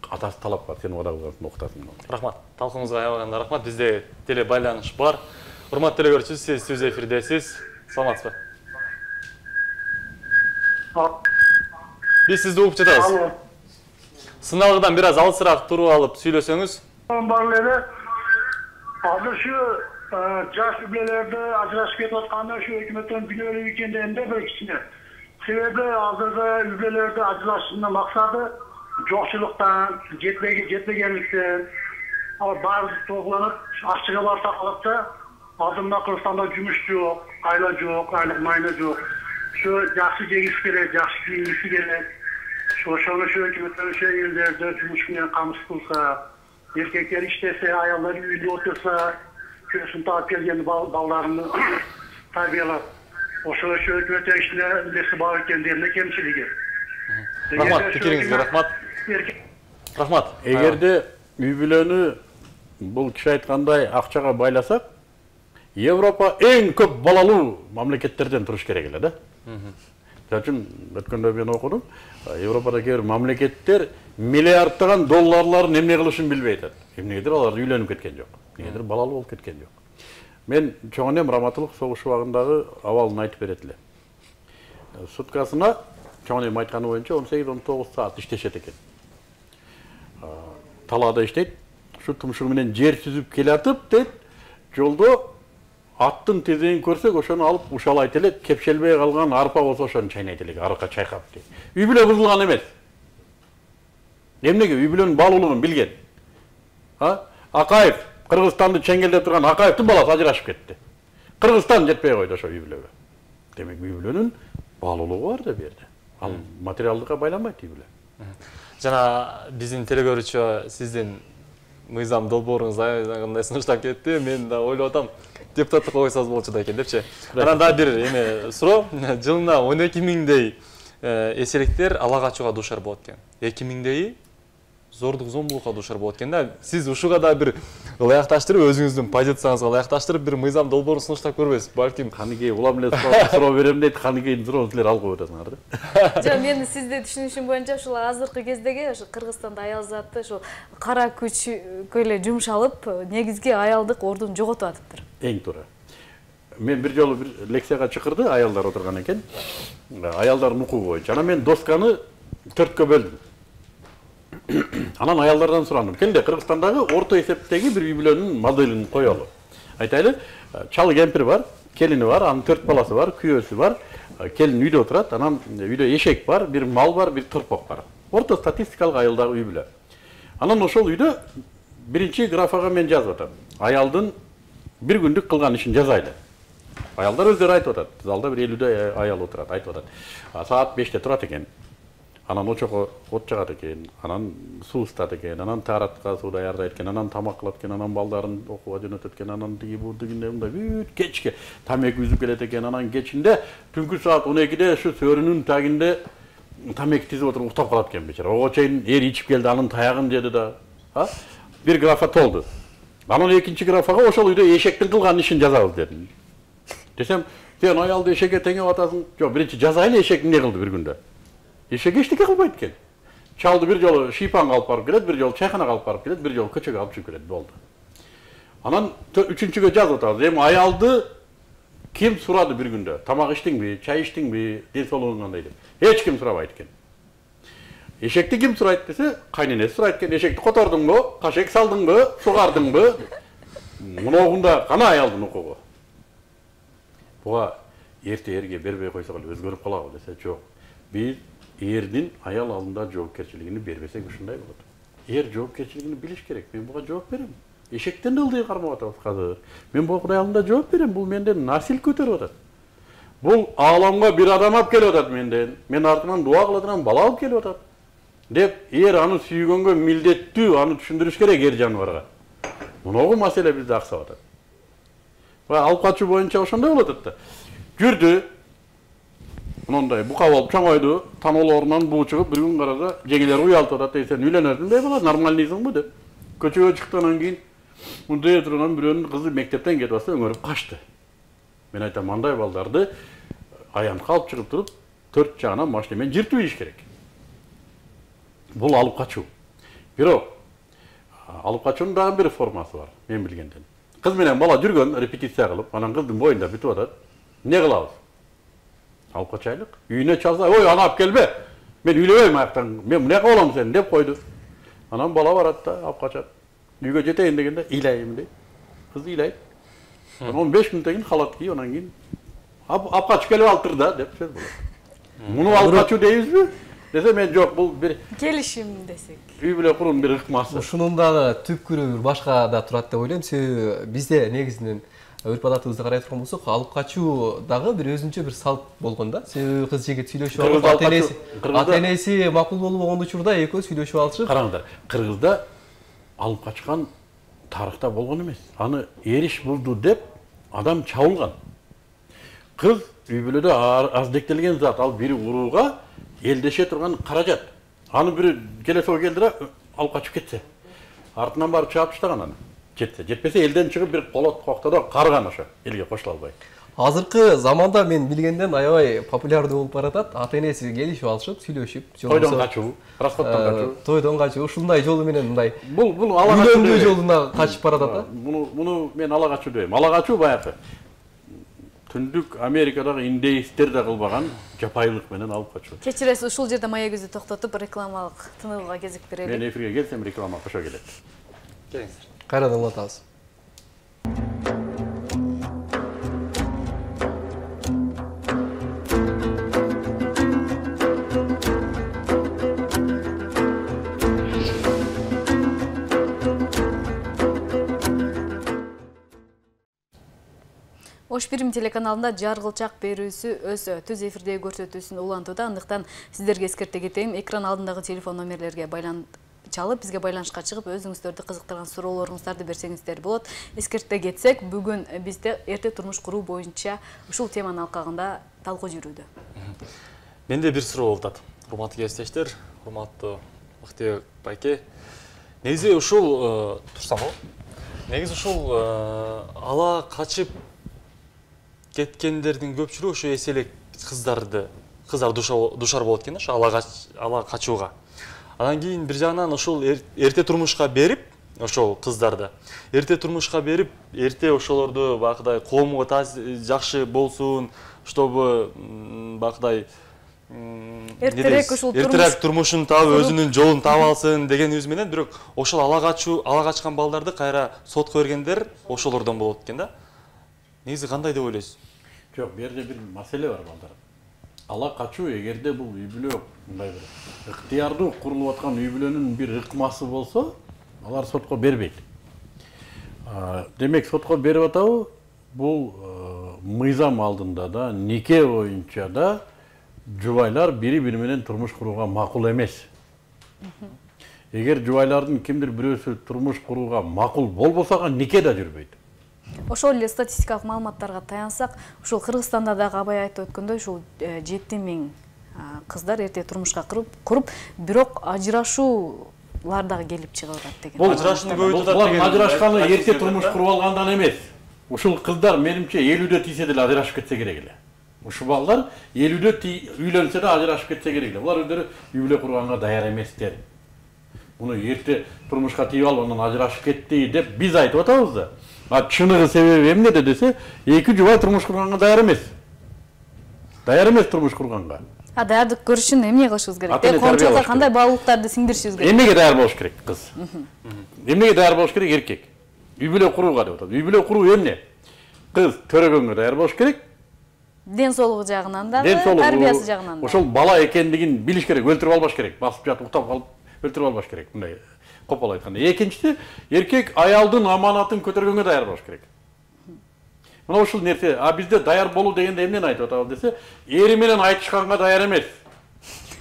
атасы талап бар, сен ода кылгансың, окутасың. Рахмат. Талкуңузга аябаганда рахмат. Бизде теле байланыш бар. Урматтуу телекөрүүчү, сиз сөз эфирдесиз. Саламатсызбы? Биз сизди угуп жатабыз. Сыналгыдан бир аз алысыраак туруп алып сүйлөсөңүз. Бар эле. Азыр şu жаш үй-бүлөлөрдө ажырашып кетип атканда şu өкмөттөн күнөөлүү экенде эмне бир кичине. Себеби азыркы үй-бүлөлөрдө ажырашуунун максаты жокчулуктан, жетпегенликтен, баары топланып, ашчыга барса калатса, алдында Кыргызстанда жумуш жок, айла жок, айлык майна жок. Şu жакшы жегиси керек, жакшы кийгиси керек. Ошону өкмөттөр элдерде жумуш менен камсыз кылса, erkekler iştese, ayollar үйдө otursa, kösün taap kelgen ballarını tarbiyalap, oşo hökümete işine bilesi bağır kendilerine kemçiligi. Rahmat, fikiringizge rahmat. Rahmat. Эгерде үй-бүлөнү бул киши айткандай акчага байласак, Европа эң көп балалуу мамлекеттерден туруш керек эле да. Мисалы үчүн өткөндө мен окудум, Европада кээ бир мамлекеттер миллиарддаган долларларын эмне кылышын билбей атат. Эмнегедир алар үйлөнүп кеткен жок. Эмнегедир балалуу болуп кеткен жок. Мен чоң энем Раматылык согуш убагындагы абалын айтып берет эле. Суткасына чоң энем айтканы боюнча 18-19 саат иштешет экен. Талаада иштейт. Ушу тумшугу менен жер сүзүп келатып дейт, жолдо аттын тезегин көрсөк, ошону алып ушалайт эле, кепшелбей калган арпа болсо ошону чайнайт эле, арка чайкап дейт. Үй-бүлө бузулган эмес. Эмнеге үй-бүлөнүн баалуулугун билген. Акаев, Кыргызстанды чеңгелдеп турган Акаевдин баласы ажырашып кетти. Кыргызстан жетпей койду ошо үй-бүлөгө. Демек үй-бүлөнүн баалуулугу бар да бу жерде. Ал материалдыкка байланбайт үй-бүлө. Жана биздин телекөрүүчү сиздин мыйзам долбооруңуз аябай сунуштап кетти. Мен да ойлоп атам, депутаттыкка койсоңуз болчу да экен депчи. Анан да бир эме суроо, жылына 12 миңдей эселиктер ала качууга дуушар болот экен. 2 миңдейи зордук зомбулукка дуушар болот экен да. Сиз ушуга да бир ылайыкташтырып, өзүңүздүн позицияңызга ылайыкташтырып, бир мыйзам долбоорун сунуштап көрбөйсүз. Балким каныгей улам эле суроо берем дейт, каныгейдин суроону силер алып коюп атасыңар да. Жок, мен сизди түшүнүшүм боюнча ушул азыркы кездеги ошо Кыргызстанда аял заты ошо кара күчкө эле жумшалып, негизги аялдык ордун жоготуп атыптыр. Эң туура. Мен бир жолу бир лекцияга чакырды, аялдар отурган экен. Аялдардын укугу боюнча. Анан мен досканы 4кө бөлдүм. Анан аялдардан сурандым. Келде Кыргызстандагы орто эсептеги бир үй-бүлөнүн моделин коелу. Айтайлы, чал кемпир бар, келини бар, анын 4 баласы бар, күйөөсү бар. Келин үйдө отурат, анан үйдө эшек бар, бир мал бар, бир тырпок бар. Орто статистикалык айылдагы үй-бүлө. Анан ошол үйдө биринчи графага мен жазып атам. Аялдын бир күндүк кылган ишин жазайлы. Аялдар өздөрү айтып атат. Залда бир 50 аял отурат, айтып атат. Саат 5-те турат экен. Анан очого от жагат экен, анан суу ысытат экен, анан тааратка суу даярдайт экен, анан тамак кылат экен, анан балдарын окууга жөнөтөт экен, анан тиги бул дегенде мындай бүт кечке тамеки үзүп келет экен, анан кечинде түнкү саат 12-де ушу сөрүнүн тагинде тамеки тизип отуруп уктап калат экен бечара. Ого чейин эр ичип келди, анын таягын жеди да. Бир графа толду. Анан экинчи графага ошол үйдө эшектин кылган ишин жазабыз дедим. Десем, сен аялды эшекке теңеп атасың. Жок, биринчи жазайлы, эшек эмне кылды бир күндө? Эшек эчтеке кылбайт экен. Чалды бир жолу шийпанга алып барып келет, бир жолу чайханага алып барып келет, бир жолу көчөгө алып чыгып келет, болду. Анан үчүнчүгө жазып атабыз. Эми аялды ким сурады бир күндө? Тамак иштиңби, чай иштиңби, ден соолугуң кандай деп. Эч ким сурабайт экен. Эшекти ким сурайт десе, кайненеси сурайт экен. Эшекти котордуңбу, кашек салдыңбы, сугардыңбы? Муногунда кана аялдын укугу. Буга эрте-эрге бербей койсок эле өзгөрүп калабы десе, жок. Биз эрдин аял алдында жоопкерчилигин бербесек ушундай болот. Эр жоопкерчилигин билиш керек. Мен буга жооп берем. Эшектен да ылдый кармап атабыз казыр. Мен буга Кудай алдында жооп берем. Бул менден насил көтөрүп атат. Бул ааламга бир адам алып келип атат менден. Мен артынан дуа кылып атам, бала алып келип атат. Деп эр аны сүйгөнгө милдеттүү, аны түшүндүрүш керек эр жаныбарга. Муногу маселе бизде аксап атат. Алып качуу боюнча ошондой болот атат да. Жүрдү. Мындай бука болуп чоңойду, таноолорунан буу чыгып, бир күн караса жеңелер уялтып атат, сен үйлөнөсүң деп бала, нормальныйсыңбы деп. Көчөгө чыккандан кийин мындай турган бирөөнүн кызы мектептен кетип атса өңөрүп качты. Мен айтам, мындай балдарды аянтка алып чыгып туруп, 4 жагынан машина менен жыртып ийиш керек. Бул алып качуу. Бирок алып качуунун дагы бир формасы бар, мен билгенден. Кыз менен бала жүргөн, репетиция кылып, анан кыздын боюнда бүтүп атат. Эмне кылабыз? Алып качайлык. Үйүнө чалса, ой, аны алып келбе. Мен үйлөбөйм аяктан. Мен мынакы болом сен деп койду. Анан бала барат да, алып качат. Үйгө жетейин дегенде ыйлайм дейт. Кыз ыйлайт. 15 мүнөттөн кийин халат кийип, анан кийин алып качып келип алтыр да деп сөз болот. Муну алып качуу дейбизби? Десе мен жок, бул бир келишим десек. Үй бүлө куруунун бир ыкмасы. Ушунун дагы түпкүрү бир башка да турат деп ойлойм. Себеби бизде негизинен өрп адатыбызды карай турган болсок, алып качуу дагы бир өзүнчө бир салт болгон да. Себеби кыз жигит сүйлөшүп алып, ата-энеси макул болбогон учурда экөө сүйлөшүп алышып. Караңдар, Кыргызда алып качкан тарыхта болгон эмес. Аны эриш булду деп адам чабылган. Кыз үй бүлөдө аздектелген зат, ал бири урууга элдеше турган каражат. Аны бири келе сол келдире алып качып кетсе, артынан барып чаап таштаган аны. Жетпесе элден чыгып бир колот коктодо карган ошо, элге кошула албай. Азыркы заманда мен билгенден аябай популярдуу болуп баратат. Ата-энеси келишип алышып, сүйлөшүп, тойдон качуу, расходдон качуу. Тойдон качуу, ушундай жолу менен мындай. Бул ала качуу үйлөнүү жолуна качып баратат да. Муну мен ала качуу дейм. Ала качуу баягы Түндүк Америкадагы индеисттер да кылбаган жапайылык менен алып качуу. Кечиресиз, ушул жерде маегибизди токтотуп рекламалык тыныгууга кезек берели. Мен эфирге келсем реклама кошо келет. Келиңиздер. Кайрадан улантабыз. Ош Бирим телеканалында жаргылчак берүүсү өз түз эфирдеги көрсөтүүсүн улантууда. Андыктан сиздерге эскерте кетейин, экран алдындагы телефон номерлерге чалып, бизге байланышка чыгып, өзүңүздөрдү кызыктырган суроолоруңуздарды берсеңиздер болот. Эскерте кетсек, бүгүн бизде эрте турмуш куруу боюнча ушул теманын алкагында талкуу жүрүүдө. Менде бир суроо болуп атат. Урматтуу кесиптештер, урматтуу Бактыбек байке. Негизи ушул турсамбы? Негизи ушул ала качып кеткендердин көпчүлүгү ошо эселек кыздар душар болот экен, ошо ала качууга. Анан кийин бир жагынан ошол эрте турмушка берип, ошол кыздарды эрте турмушка берип, эрте ошолорду бакыдай коомго жакшы болсун, чтобы бакыдай эртерээк турмушун таап, өзүнүн жолун таап алсын дегенибиз менен, бирок ошол ала качкан балдарды кайра сотко бергендер ошолордон болот экен да. Негизи кандай деп ойлойсуз? Жок, бул жерде бир маселе бар балдар. Ала качуу эгерде бул үй бүлө мындай бир ыктыярдуу курулуп аткан үй бүлөнүн бир ыкмасы болсо, алар сотко бербейт. Демек сотко берип атабы, бул мыйзам алдында да, нике боюнча да жубайлар бири-бири менен турмуш курууга макул эмес. Эгер жубайлардын кимдир бирөөсү турмуш курууга макул болбосо, нике да жүрбөйт. Ошол эле статистикалык маалыматтарга таянсак, ушул Кыргызстанда дагы абай айтып өткөндөй, ушул 7000 кыздар эрте турмушка куруп, бирок ажырашуулар дагы келип чыгып атат деген. Бул ажырашканы эрте турмуш куруп алгандан эмес. Ушул кыздар менимче 50-дө тийсе деле ажырашып кетсе керек эле. Ушул балдар 50-дө үйлөнсө да ажырашып кетсе керек эле. Булар өздөрү үй бүлө курганга даяр эместер. Муну эрте турмушка тийип алып, анан ажырашып кетти деп биз айтып атабыз да. Чыныгы себеби эмнеде десе, эки жубай турмуш курганга даяр эмес. Даяр эмес турмуш курганга. Даярдык көрүшүн эмне кылышыбыз керек? Коомчулукка кандай баалуулуктарды сиңдиришибиз керек? Эмнеге даяр болуш керек кыз? Эмнеге даяр болуш керек еркек? Үй бүлө курууга деп атат. Үй бүлө куруу эмне? Кыз төрөгөнгө даяр болуш керек. Ден соолугу жагынан дагы, тарбиясы жагынан дагы. Ошол бала экендигин билиш керек, өлтүрүп албаш керек. Басып жатып уктап калып өлтүрүп албаш керек. Мындай копол айтканда. Экинчиси, эркек аялдын аманатын көтөргөнгө даяр болуш керек. Мына ушул нерсе, бизде даяр болуу дегенде эмнени айтып атабыз десе, эри менен айтышканга даяр эмес.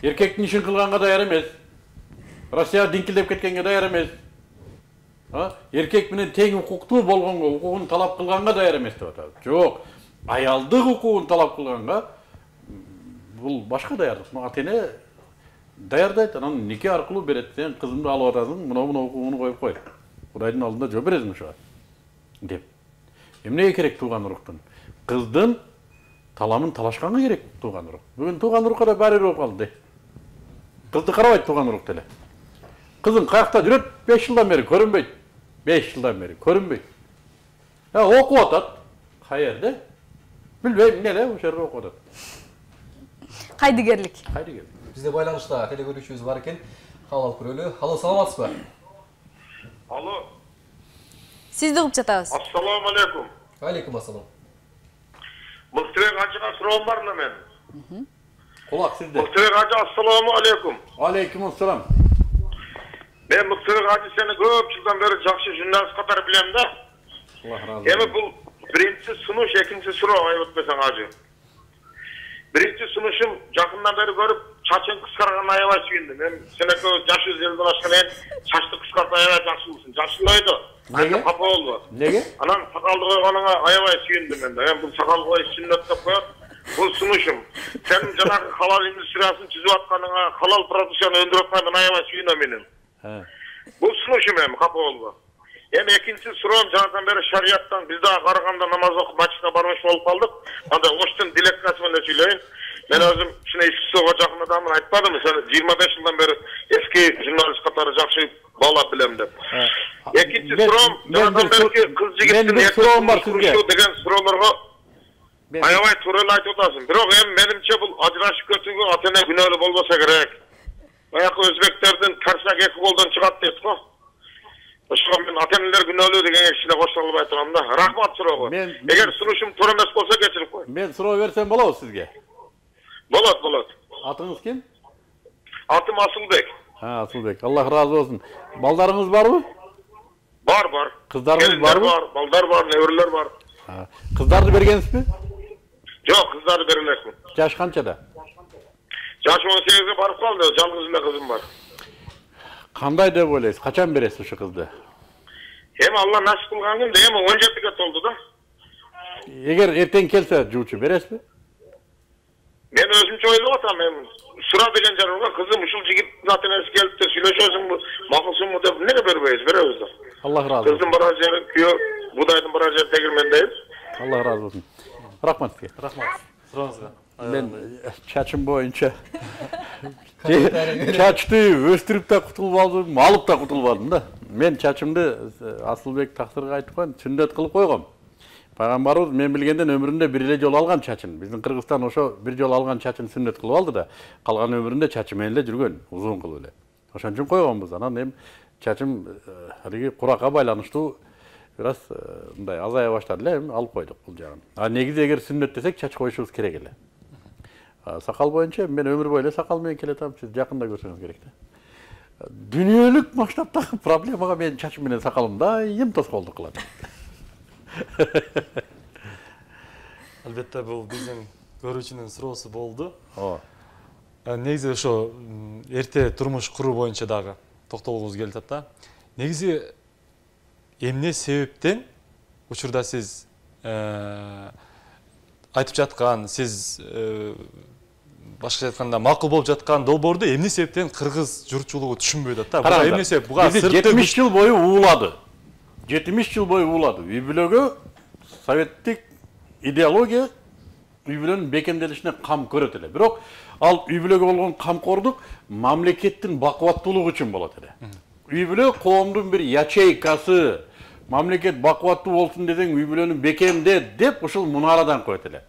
Эркектин ишин кылганга даяр эмес. Россия диңкилдеп кеткенге даяр эмес. Эркек менен тең укуктуу болгонго, укугун талап кылганга даяр эмес деп атабыз. Жок, аялдык укугун талап кылганга бул башка даярдык. Ата-эне даярдайт, анан нике аркылуу берет. Сен кызымды алып атасың, мына укугуну коюп кой. Кудайдын алдында жооп бересиң ошого деп. Эмнеге керек тууган уруктун? Кыздын таламын талашканга керек тууган урук. Бүгүн тууган урукка да баары болуп калды. Кызды карабайт тууган урук деле. Kızın kayakta жүрөт 5 жылдан бери көрүнбөйт. 5 жылдан бери көрүнбөйт. Окуп атат. Каерде? Билбейм, эмне ошол жерде окуп атат. Кайдыгерлик. Кайдыгерлик. Бизде байланышта телекөрүүчүбүз бар экен. Кабыл алып көрөлү. Алло, саламатсызбы? Алло. Сизди угуп жатабыз. Ассаламу алейкум. Алейкум ассалам. Мыктыбек ажыга суроом бар эле мен. Кулак сизде. Мыктыбек ажы, ассаламу алейкум. Алейкум ассалам. Мен Мыктыбек ажы сени көп жылдан бери жакшы журналист катары билем да. Аллах разы Эми бул биринчи сунуш, экинчи суроо айып өтпөсөң ажы. Биринчи сунушум жакындан бери көрүп, чачың кыскарган аябай сүйүндүм. Мен сен экөөбүз жаш элден ашкан экен, чачты кыскартып аябай жакшылысың. Жакшылайды. Неге? Капа болду. Неге? Анан сакалды койгонуңа аябай сүйүндүм мен. Мен бул сакал коюш сүннөт деп коет. Бул сунушум. Сен жанагы халал индустриясын түзүп атканыңа, халал продукцияны өндүрүп атканыңа аябай сүйүнөм мен. Бул сунушум эми капа болду. Эми экинчи суроом жанадан бери шарияттан биз дагы караганда намаз окуп мачитке бармакчы болуп калдык. Анда оштун дилекциясы менен сүйлөйүн. Мен өзүм кичине искусствого жакын адаммын, айтпадымбы, сен 25 жылдан бери эски журналист катары жакшы баалап билем деп. Экинчи суроом жанадан берки кыз жигиттин суроом бар сизге деген суроолорго аябай туура эле айтып атасың. Бирок эми менимче бул ажырашып кетүүгө ата-эне күнөөлүү болбосо керек. Баягы өзбектердин карсак эки колдон чыгат дейт го. Ошого мен ата-энелер күнөөлүү дегенге кичине кошулуп айтам да. Рахмат суроого. Эгер сунушум туура эмес болсо кечирип кой. Мен суроо берсем болобу сизге? Болот, болот. Атыңыз ким? Атым Асылбек. Асылбек. Аллах разы болсун. Балдарыңыз барбы? Бар, бар. Кыздарыңыз барбы? Бар, балдар бар, неберелер бар. Кыздарды бергенсизби? Жок, кыздарды бере элекмин. Жаш канчада? Жаш 18-ге барып калды, жалгыз эле кызым бар. Кандай деп ойлойсуз? Качан бересиз ошо кызды? Эми Алла насип кылган күндө, эми 17-ге толду да. Эгер эртең келсе, жуучу бересизби? Мен өзүмчө ойлоп атам, мен сура деген жарымга кызым ушул жигиттин ата-энеси келип де сүйлөшөсүңбү, макулсуңбу деп эмнеге бербейбиз? Беребиз да. Аллах разы болсун. Кыздын барар жери күйөө, будайдын барар жери тегирмендейбиз. Аллах разы болсун. Рахмат сизге. Рахмат. Сурооңузга. Мен чачым боюнча чачты өстүрүп да кутулуп алдым, алып да кутулбадым да. Мен чачымды Асылбек тактырга айткан сүннөт кылып койгом. Пайгамбарыбыз мен билгенден өмүрүндө бир эле жолу алган чачын. Биздин Кыргызстан ошо бир жолу алган чачын сүннөт кылып алды да, калган өмүрүндө чачы менен эле жүргөн, узун кылып эле. Ошон үчүн койгонбуз. Анан эми чачым алиги куракка байланыштуу бир аз мындай азая баштады эле, эми алып койдук бул жагын. Негизи эгер сүннөт десек чач коюшубуз керек эле. Сакал боюнча мен өмүр бою эле сакал менен келатам, сиз жакында көрсөңүз керек да. Дүйнөлүк масштабтагы проблемага мен чачым менен сакалым дайым тоскоолдук кылат. Албетте бул биздин көрүүчүнүн суроосу болду. Негизи ошо эрте турмуш куруу боюнча дагы токтолгубуз келип атат да. Негизи эмне себептен учурда сиз айтып жаткан, сиз башкача айтканда макул болуп жаткан долбоорду эмне себептен кыргыз журтчулугу түшүнбөй атат да? Буга эмне себеп? Буга 70 жыл бою уулады. 70 жыл бою уулады. Үй бүлөгө советтик идеология үй бүлөнүн бекемделишине кам көрөт эле. Бирок ал үй бүлөгө болгон камкордук мамлекеттин бакубаттуулугу үчүн болот эле. Үй бүлө коомдун бир ячейкасы, мамлекет бакубаттуу болсун десең үй бүлөнү бекемде деп ушул мунарадан коет эле.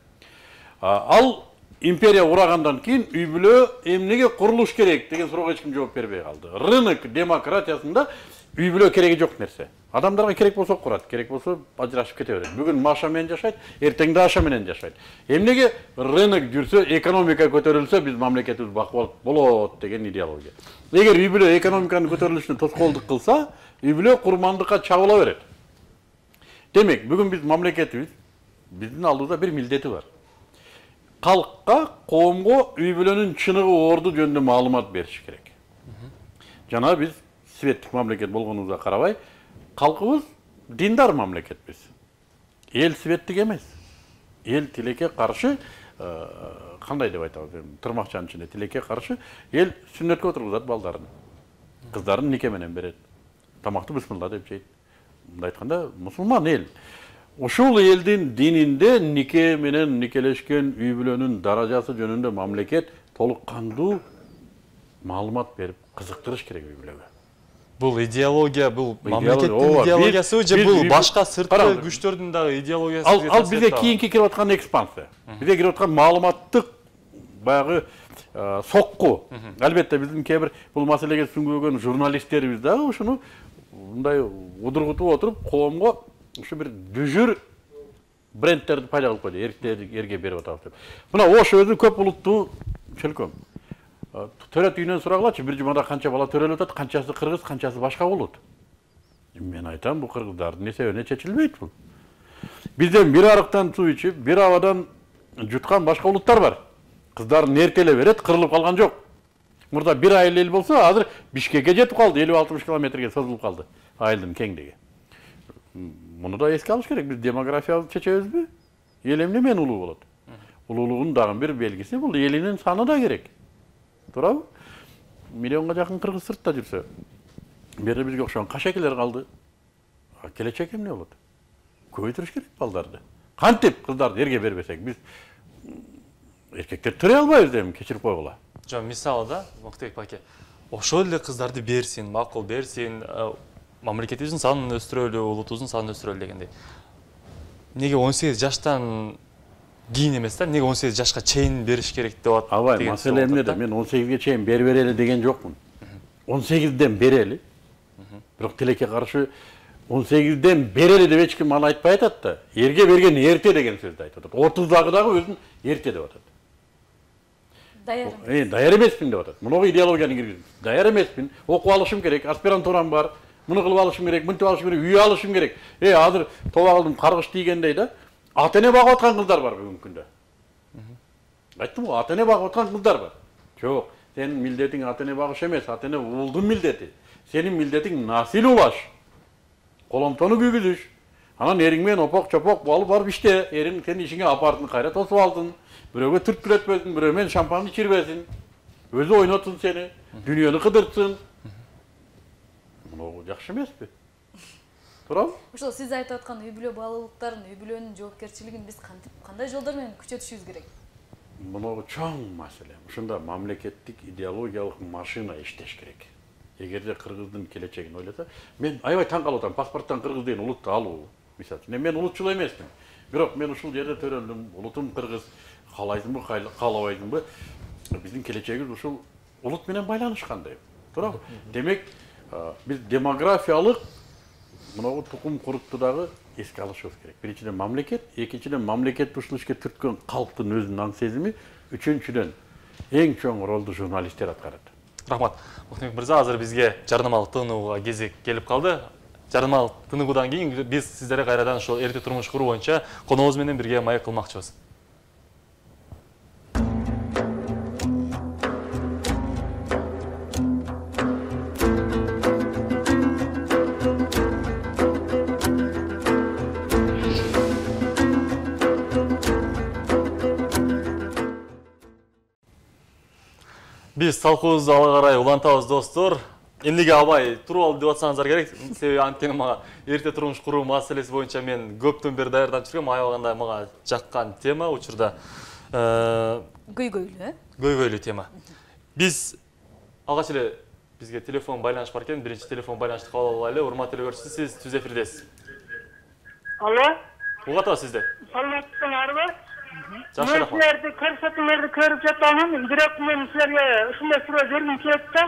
Ал империя урагандан кийин үй бүлө эмнеге курулуш керек деген суроого эч ким жооп бербей калды. Рынок демократиясында үй бүлө кереги жок нерсе. Адамдарга керек болсо курат, керек болсо ажырашып кете берет. Бүгүн Маша менен жашайт, эртең да Аша менен жашайт. Эмнеге рынок жүрсө, экономика көтөрүлсө, биз мамлекетибиз бакубат болот деген идеология. Эгер үй бүлө экономиканын көтөрүлүшүнө тоскоолдук кылса, үй бүлө курмандыкка чабыла берет. Демек, бүгүн биз мамлекетибиз, биздин алдыбызда бир милдети бар. Калкка, коомго үй бүлөнүн чыныгы орду жөнүндө маалымат бериш керек. Жана биз светтик мамлекет болгонубузга карабай, калкыбыз диндар мамлекетпиз. Эл светтик эмес. Эл тилекке каршы, кандай деп айтабыз, тырмакчанын ичинде тилекке каршы, эл сүннөткө отургузат балдарын. Кыздарын нике менен берет. Тамакты бисмилла деп жейт. Мындай айтканда, мусулман эл. Ушул элдин дининде нике менен никелешкен үй бүлөнүн даражасы жөнүндө мамлекет толук кандуу маалымат берип, кызыктырыш керек үй бүлөгө. Бул идеология, бул мамлекеттин идеологиясы же бул башка сырткы күчтөрдүн дагы идеологиясы? Ал бизге кийинки кирип аткан экспансия. Бизге кирип аткан маалыматтык баягы сокку. Албетте биздин кээ бир бул маселеге сүңгүгөн журналисттерибиз дагы ушуну мындай удургутуп отуруп коомго ушу бир дүжүр брендтерди пайда кылып койду. Эрге берип атабыз деп. Мына Ош өзү көп улуттуу чөлкөм. Төрөт үйүнөн сураглачы, бир жумада канча бала төрөлүп атат, канчасы кыргыз, канчасы башка болот. Мен айтам, бул кыргыздардын эсебине чечилбейт бул. Бизден бир арыктан суу ичип, бир абадан жуткан башка улуттар бар. Кыздарын эртеле берет, кырылып калган жок. Мурда бир айыл эл болсо, азыр Бишкекке жетип калды, 50-60 километрге созулуп калды айылдын кеңдиги. Муну да эске алыш керек, биз демографиябызды чечебизби? Эл эмне менен улуу болот? Улуулугунун дагы бир белгиси бул элинин саны да керек. Туурабы? Миллионго жакын кыргыз сыртта жүрсө, бери бизге окшогон кашекелер калды. Келечек эмне болот? Көбөйтүрүш керек балдарды. Кантип кыздарды эрге бербесек, биз эркектер төрөй албайбыз эми, кечирип койгула. Жок, мисалы да, Мактыбек баке, ошол эле кыздарды берсин, макул берсин, мамлекетибиздин санын өстүрөлү, улутубуздун санын өстүрөлү дегендей. Неге 18 жаштан кийин эмес да, неге 18 жашка чейин бериш керек деп атат? Абай, маселе эмнеде? Мен 18ге чейин берели деген жокмун. 18ден берели. Бирок тилекке каршы 18ден берели деп эч ким аны айтпай атат да. Эрге берген эрте деген сөздү айтып атат. 30дагы дагы өзүн эрте деп атат. Даяр эмеспин деп атат. Мунуга идеологияны киргизип. Даяр эмеспин, окуп алышым керек, аспирантурам бар, муну кылып алышым керек, мынтип алышым керек, үй алышым керек. Азыр тобагылдым каргыш тийгендей да. Ата-эне багып аткан кыздар бар бүгүнкү күндө. Айттым го, ата-эне багып аткан кыздар бар. Жок, сенин милдетиң ата-эне багыш эмес, ата-эне уулдун милдети. Сенин милдетиң насил улаш. Коломтону күйгүзүш. Анан эриң менен опок-чопок алып барып иште, эриң сенин ишиңе апардын, кайра тосуп алдын. Бирөөгө түрткүлөтпөсүн, бирөө менен шампан ичирбесин. Өзү ойнотсун сени, дүйнөнү кыдыртсын. Муну жакшы эмеспи? Туурабы? Ошол сиз айтып аткан үй бүлө баалуулуктарын, үй бүлөнүн жоопкерчилигин биз кандай жолдор менен күчөтүшүбүз керек? Муну чоң маселе. Ушунда мамлекеттик идеологиялык машина иштеш керек. Эгерде кыргыздын келечегин ойлосо, мен аябай таң калып атам, паспорттон кыргыз деген улутты алуу. Мисалы үчүн, мен улутчул эмесмин. Бирок мен ушул жерде төрөлдүм, улутум кыргыз, каалайсыңбы, каалабайсыңбы? Биздин келечегибиз ушул улут менен байланышкандай. Туурабы? Демек, биз демографиялык мынау тукум курукту дагы эске алышыбыз керек. Биринчиден мамлекет, экинчиден мамлекет ушул ишке түрткөн калктын өзүнүн аң сезими, үчүнчүдөн эң чоң ролду журналисттер аткарат. Рахмат. Мактыбек мырза, азыр бизге жарнамалык тыныгууга кезек келип калды. Жарнамалык тыныгуудан кийин биз сиздерге кайрадан ошол эрте турмуш куруу боюнча коногубуз менен бирге маек кылмакчыбыз. Биз талкуубузду ала карай улантабыз достор. Эмнеге абай туруп алды деп атсаңыздар керек. Себеби анткени мага эрте турмуш куруу маселеси боюнча мен көптөн бери даярданып жүргөм. Аябаганда мага жаккан тема учурда көйгөйлүү, көйгөйлүү тема. Биз алгач эле бизге телефон байланыш бар экен. Биринчи телефон байланышты кабыл алайлы. Урматтуу көрүүчү, сиз түз эфирдесиз. Алло. Угатабы сизди. Саламатсыздарбы? Жакшы, рахмат. Силерди көрсөтүүлөрдү көрүп жатамын. Бирок мен силерге ушундай суроо бергим келет да.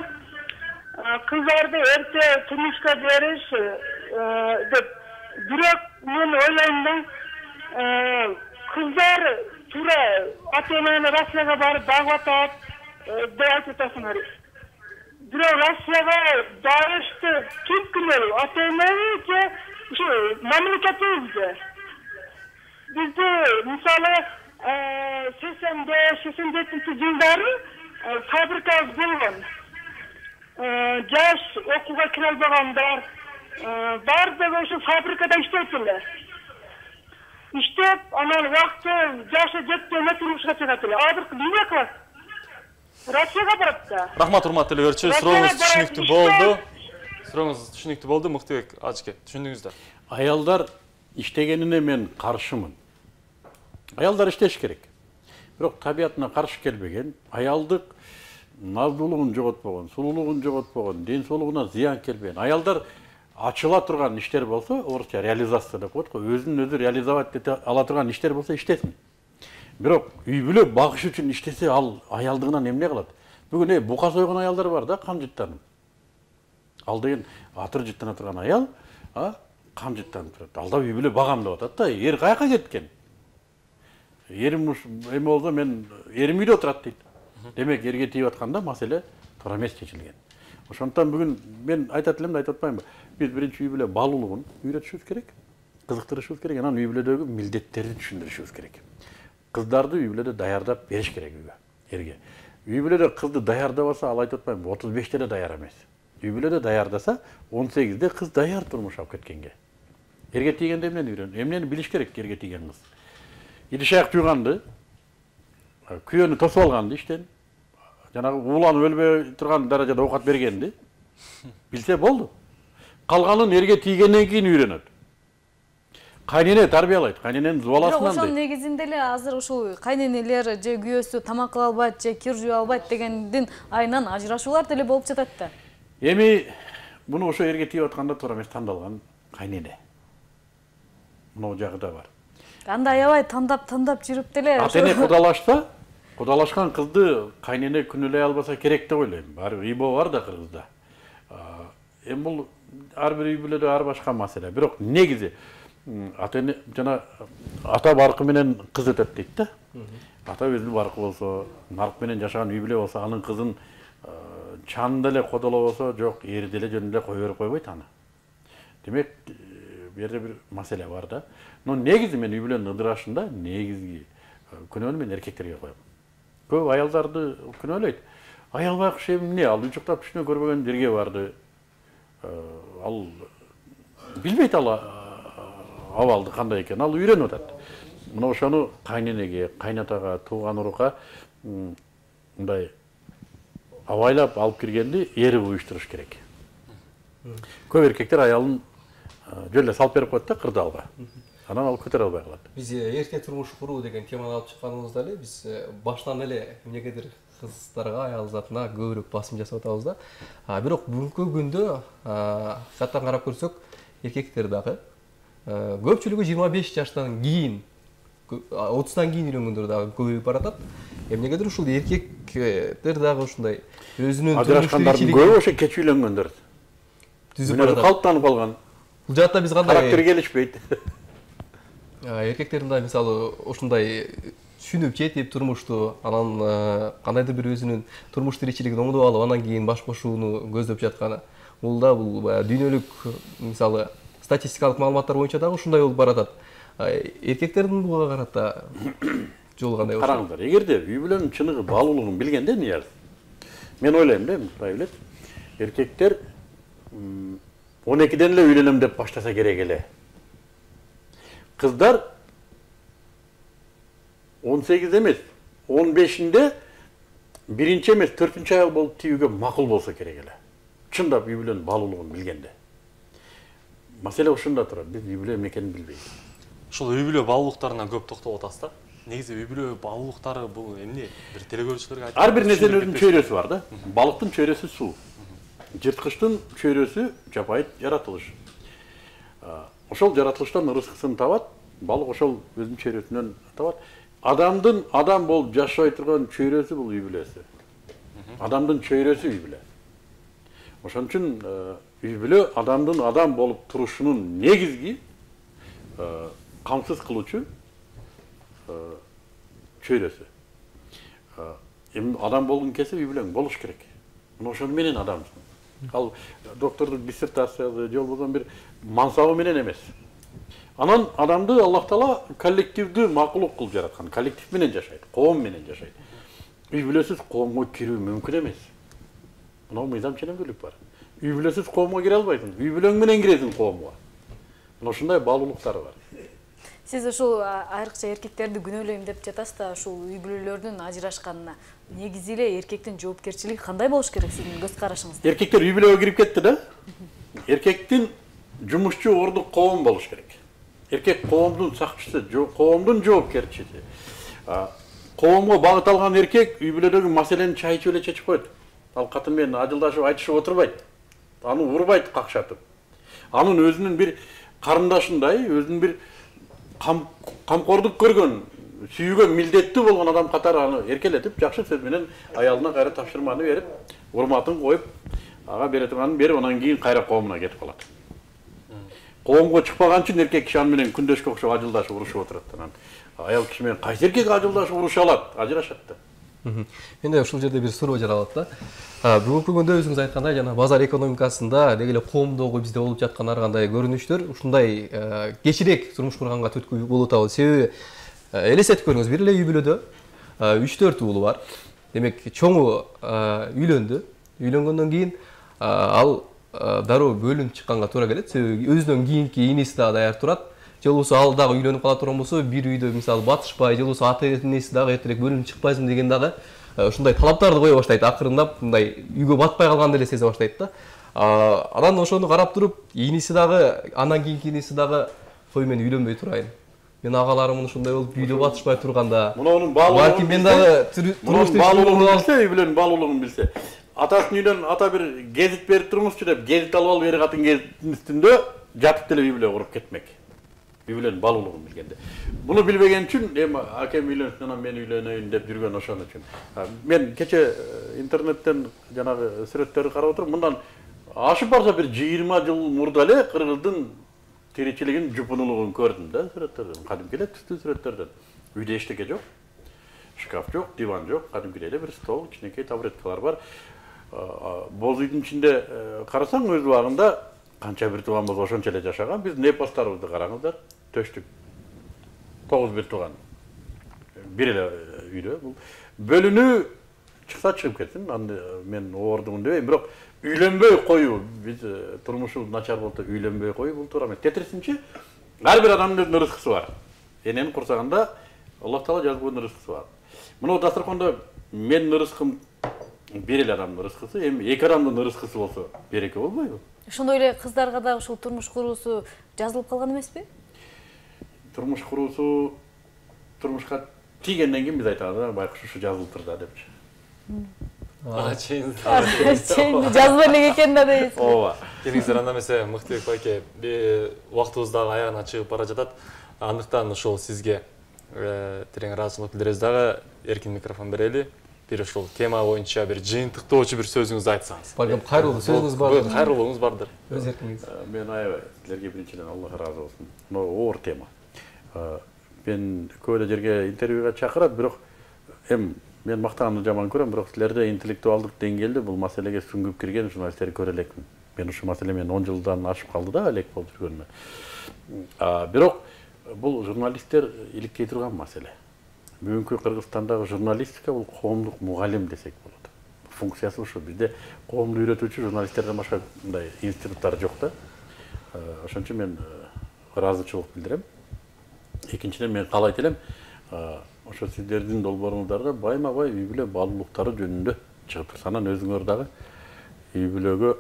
Кыздарды эрте турмушка бериш деп. Бирок мен ойлойм да, кыздар туура ата-энени Россияга барып багып атат деп айтып атасыңар. Бирок Россияга барышты ким кирет? Ата-энеби же ушу мамлекетибизби? Бизде мисалы 85-87 жылдары фабрикабыз болгон. Жаш окууга кире албагандар баардыгы ошо фабрикада иштейт эле. Иштеп, анан убакыты жашы жеткенде турмушка чыгат эле. Азыр эмне кылат? Россияга барат да. Рахмат, урматтуу көрүүчү, сурооңуз түшүнүктүү болду. Сурооңуз түшүнүктүү болду, Мактыбек ажыке, түшүндүңүздөр. Аялдар иштегенине мен каршымын. Аялдар иштеш керек. Бирок табиятына каршы келбеген, аялдык наздуулугун жоготпогон, сулуулугун жоготпогон, ден соолугуна зыян келбеген. Аялдар ачыла турган иштер болсо, орусча реализация деп коет го, өзүн өзү реализовать ете ала турган иштер болсо иштесин. Бирок үй бүлө багыш үчүн иштесе, ал аялдыгынан эмне кылат? Бүгүн бука сойгон аялдар бар да, кам жыттанып. Ал деген атыр жыттана турган аял, кам жыттанып турат. Алда үй бүлө багам деп атат да, эр каяка кеткен? Эрим эме болсо мен эрим үйдө отурат дейт. Демек эрге тийип атканда маселе туура эмес чечилген. Ошондуктан бүгүн мен айтат элем да, айтып атпаймынбы? Биз биринчи үй бүлө баалуулугун үйрөтүшүбүз керек, кызыктырышыбыз керек, анан үй бүлөдөгү милдеттерди түшүндүрүшүбүз керек. Кыздарды үй бүлөдө даярдап бериш керек үйгө, эрге. Үй бүлөдө кызды даярдабаса, ал айтып атпаймынбы, 35-те да даяр эмес. Үй бүлөдө даярдаса, 18-де кыз даяр турмуш алып кеткенге. Эрге тийгенде эмнени үйрөн? Эмнени билиш керек эрге тийген кыз? Идиш аяк жууганды, күйөөнү тосуп алганды иштен, жанагы ууланып өлбөй турган даражада оокат бергенди билсе болду. Калганын эрге тийгенден кийин үйрөнөт. Кайнене тарбиялайт, кайнененин зубаласынан. Бирок ошонун негизинде эле азыр ушул кайненелер же күйөөсү тамак кыла албайт же кир жуу албайт дегендин айынан ажырашуулар деле болуп жатат да. Эми муну ошо эрге тийип атканда туура эмес тандалган кайнене. Мына жагы да бар. Анда аябай тандап жүрүп деле. Ата-эне кудалашса, кудалашкан кызды кайнене күнөөлөй албаса керек деп ойлойм. Баары ыйбоо бар да кыргызда. Эми бул ар бир үй бүлөдө ар башка маселе. Бирок негизи ата-эне жана ата баркы менен кыз өтөт дейт да. Ата өзү баркы болсо, нарк менен жашаган үй бүлө болсо, анын кызын чанында эле кодолобосо, жок, эр деле жөн эле кое берип койбойт аны. Демек, бу жерде бир маселе бар да. Но негизи мен үй бүлөнүн ыдырашында негизги күнөөнү мен эркектерге коем. Көп аялдарды күнөөлөйт. Аял байкуш эмне, ал учуктап түшүнө көрбөгөн жерге барды. Ал билбейт ал абалды кандай экен, ал үйрөнүп атат. Мына ошону кайненеге, кайнатага, тууган урукка мындай абайлап алып киргенди эри уюштуруш керек. Көп эркектер аялын жөн эле салып берип коет да кырдаалга. Анан ал көтөрө албай калат. Биз эрте турмуш куруу деген теманы алып чыкканыбызда эле биз баштан эле эмнегедир кыздарга, аял затына көбүрөөк басым жасап атабыз да. Бирок бүгүнкү күндө жаттан карап көрсөк, эркектер дагы көпчүлүгү 25 жаштан кийин, 30тан кийин үйрөнгөндөр дагы көбөйүп баратат. Эмнегедир ушул эркектер дагы ушундай өзүнүн ажырашкандардын көбү ошо кеч үйлөнгөндөр. Түзүп баратат. Калыптанып калган. Бул жакта биз кандай характер келишпейт. Эркектердин да мисалы ушундай түшүнүп жетип турмушту, анан кандайдыр бир өзүнүн турмуш тиричилигин оңдоп алып, анан кийин баш кошууну көздөп жатканы. Бул да бул дүйнөлүк мисалы статистикалык маалыматтар боюнча дагы ушундай болуп баратат. Эркектердин буга карата жолу кандай болот? Караңыздар, эгерде үй бүлөнүн чыныгы баалуулугун билгенде Нияз, мен ойлойм да, мындай билет, эркектер 12ден эле үйлөнөм деп баштаса керек эле. Кыздар 18 эмес, 15-inde биринчи эмес, 4-чү аял болуп тийүүгө макул болсо керек эле. Чындап үй бүлөнүн баалуулугун билгенде. Маселе ушунда турат, биз үй бүлө эмне экенин билбейбиз. Ушул үй бүлө баалуулуктарына көп токтолуп атасыз да. Негизи үй бүлө баалуулуктары бул эмне? Бир телекөрүүчүлөргө айтып. Ар бир нерсенин өзүнүн чөйрөсү бар да. Балыктын чөйрөсү суу. Жырткычтын чөйрөсү жапайы жаратылыш. Ошол жаратылыштан ырыскысын табат, балык ошол өзүнүн чөйрөсүнөн табат. Адамдын адам болуп жашай турган чөйрөсү бул үй бүлөсү. Адамдын чөйрөсү үй бүлө. Ошон үчүн үй бүлө адамдын адам болуп турушунун негизги камсыз кылуучу чөйрөсү. Эми адам болгон кезде үй бүлөң болуш керек. Мына ошону менен адамсың. Ал доктордук диссертациясы же болбосо бир мансабы менен эмес. Анан адамды Аллах Таала коллективдүү макулук кылып жараткан, коллектив менен жашайт, коом менен жашайт. Үй бүлөсүз коомго кирүү мүмкүн эмес. Мына мыйзам ченемдүүлүк бар. Үй бүлөсүз коомго кире албайсың, үй бүлөң менен киресиң коомго. Мына ушундай баалуулуктары бар. Сиз ушул айрыкча эркектерди күнөөлөйм деп жатасыз да, ушул үй бүлөлөрдүн ажырашканына негизи эле эркектин жоопкерчилиги кандай болуш керек сиздин көз карашыңызда? Эркектер үй бүлөгө кирип кетти да. Эркектин жумушчу ордук коом болуш керек. Эркек коомдун сакчысы, коомдун жоопкерчиси. коомго багыт алган эркек үй бүлөдөгү маселени чайчып эле чечип коет. Ал катын менен ажылдашып айтышып отурбайт. Аны урбайт какшатып. Анын өзүнүн бир карындашындай, өзүнүн бир камкордук көргөн, сүйгөн, милдеттүү болгон адам катары аны эркелетип, жакшы сөз менен аялына кайра тапшырманы берип, урматын коюп, ага бере турганын берип, анан кийин кайра коомуна кетип калат. Коомго чыкпаган үчүн эркек киши аны менен күндөшкө окшоп ажылдашып урушуп отурат. Анан аял киши менен кайсы эркек ажылдашып уруша алат, ажырашат да. Менде ушул жерде бир суроо жаралат да. Бүгүнкү күндө өзүңүз айткандай жана базар экономикасында деги эле коомдогу бизде болуп жаткан ар кандай көрүнүштөр ушундай кечирээк турмуш курганга түрткү болуп атабы. Себеби элестетип көрүңүз, бир эле үй бүлөдө 3-4 уулу бар. Демек чоңу үйлөндү. Үйлөнгөндөн кийин ал дароо бөлүнүп чыкканга туура келет. Себеби өзүнөн кийинки иниси да даяр турат. Же болбосо ал дагы үйлөнүп кала турган болсо, бир үйдө мисалы батышпай, же болбосо ата энеси дагы эртерээк бөлүнүп чыкпайсың деген дагы ушундай талаптарды кое баштайт. Акырындап мындай үйгө батпай калганды эле сезе баштайт да. Анан ошону карап туруп, иниси дагы, андан кийинки иниси дагы кой мен үйлөнбөй турайын. Мен агаларым ушундай болуп үйдө батышпай турганда. Мунун баалуулугун мен дагы үй бүлөнүн баалуулугун билсе. Атасын үйдөн ата бир гезит берип турмузчу деп, гезит алып алып ери катын гезиттин үстүндө жатып деле үй бүлө куруп кетмек. Үй бүлөнүн баалуулугун билгенде. Буну билбеген үчүн эми акем үйлөнсүн, анан мен үйлөнөйүн деп жүргөн ошон үчүн. Мен кече интернеттен жанагы сүрөттөрдү карап отуруп, мындан ашып барса бир 20 жыл мурда эле кыргыздын тиричилигинин жупунулугун көрдүм да сүрөттөрдөн. Кадимки эле түстүү сүрөттөрдөн. Үйдө эчтеке жок. Шкаф жок, диван жок, кадимки эле бир стол, кичинекей табуреткалар бар. Боз үйдүн ичинде карасаң өз убагында канча бир тууган болсо ошончо эле жашаган. Биздин эпостарыбызды караңыздар. Төштүк 9 бир тууган. Бир эле үйдө. Бул бөлүнүү чыкса чыгып кетсин. Аны мен оордумун дебейм, бирок үйлөнбөй коюу, биз турмушу начар болсо үйлөнбөй коюу бул туура эмес. Тетирисинче ар бир адамдын өзүнүн рызкысы бар. Энени курсаганда Аллах Таала жазып койгон рызкысы бар. Мына дасторкондо менин рызкым бир эле адамдын рызкысы, эми эки адамдын рызкысы болсо береке болбойбу? Ошондой эле кыздарга дагы ушул турмуш куруусу жазылып калган эмеспи? Турмуш куруусу турмушка тийгенден кийин биз айтабыз, байкуш ушу жазылыптыр да депчи. Чейин жазбай эле экен да дейсиз. Ооба. Келиңиздер, анда эмесе Мыктыбек байке, убактыбыз дагы аягына чыгып бара жатат. Андыктан ошол сизге терең ыраазычылык билдиребиз дагы, эркин микрофон берели. Бир ошол тема боюнча бир жыйынтыктоочу бир сөзүңүздү айтсаңыз. Балким кайрылуу сөзүңүз бар. Кайрылууңуз бардыр. Өз эркиңиз. Мен аябай силерге биринчиден Аллах ыраазы болсун. Мына оор тема. Мен көп эле жерге интервьюга чакырат, бирок мен мактаганды жаман көрөм, бирок силерде интеллектуалдык деңгээлде бул маселеге сүңгүп кирген журналисттерди көрө элекмин. Мен ушул маселе 10 жылдан ашып калды да элек болуп жүргөнүмө. Бирок бул журналисттер иликкей турган маселе. Бүгүнкү Кыргызстандагы журналистика бул коомдук мугалим десек болот. Функциясы ушу. Бизде коомду үйрөтүүчү журналисттерден башка мындай институттар жок да. Ошон үчүн мен ыраазычылык билдирем. Экинчиден мен каалайт элем, ошо сиздердин долбооруңуздарга байма-бай үй бүлө баалуулуктары жөнүндө чыгып турса, анан өзүңөр дагы үй бүлөгө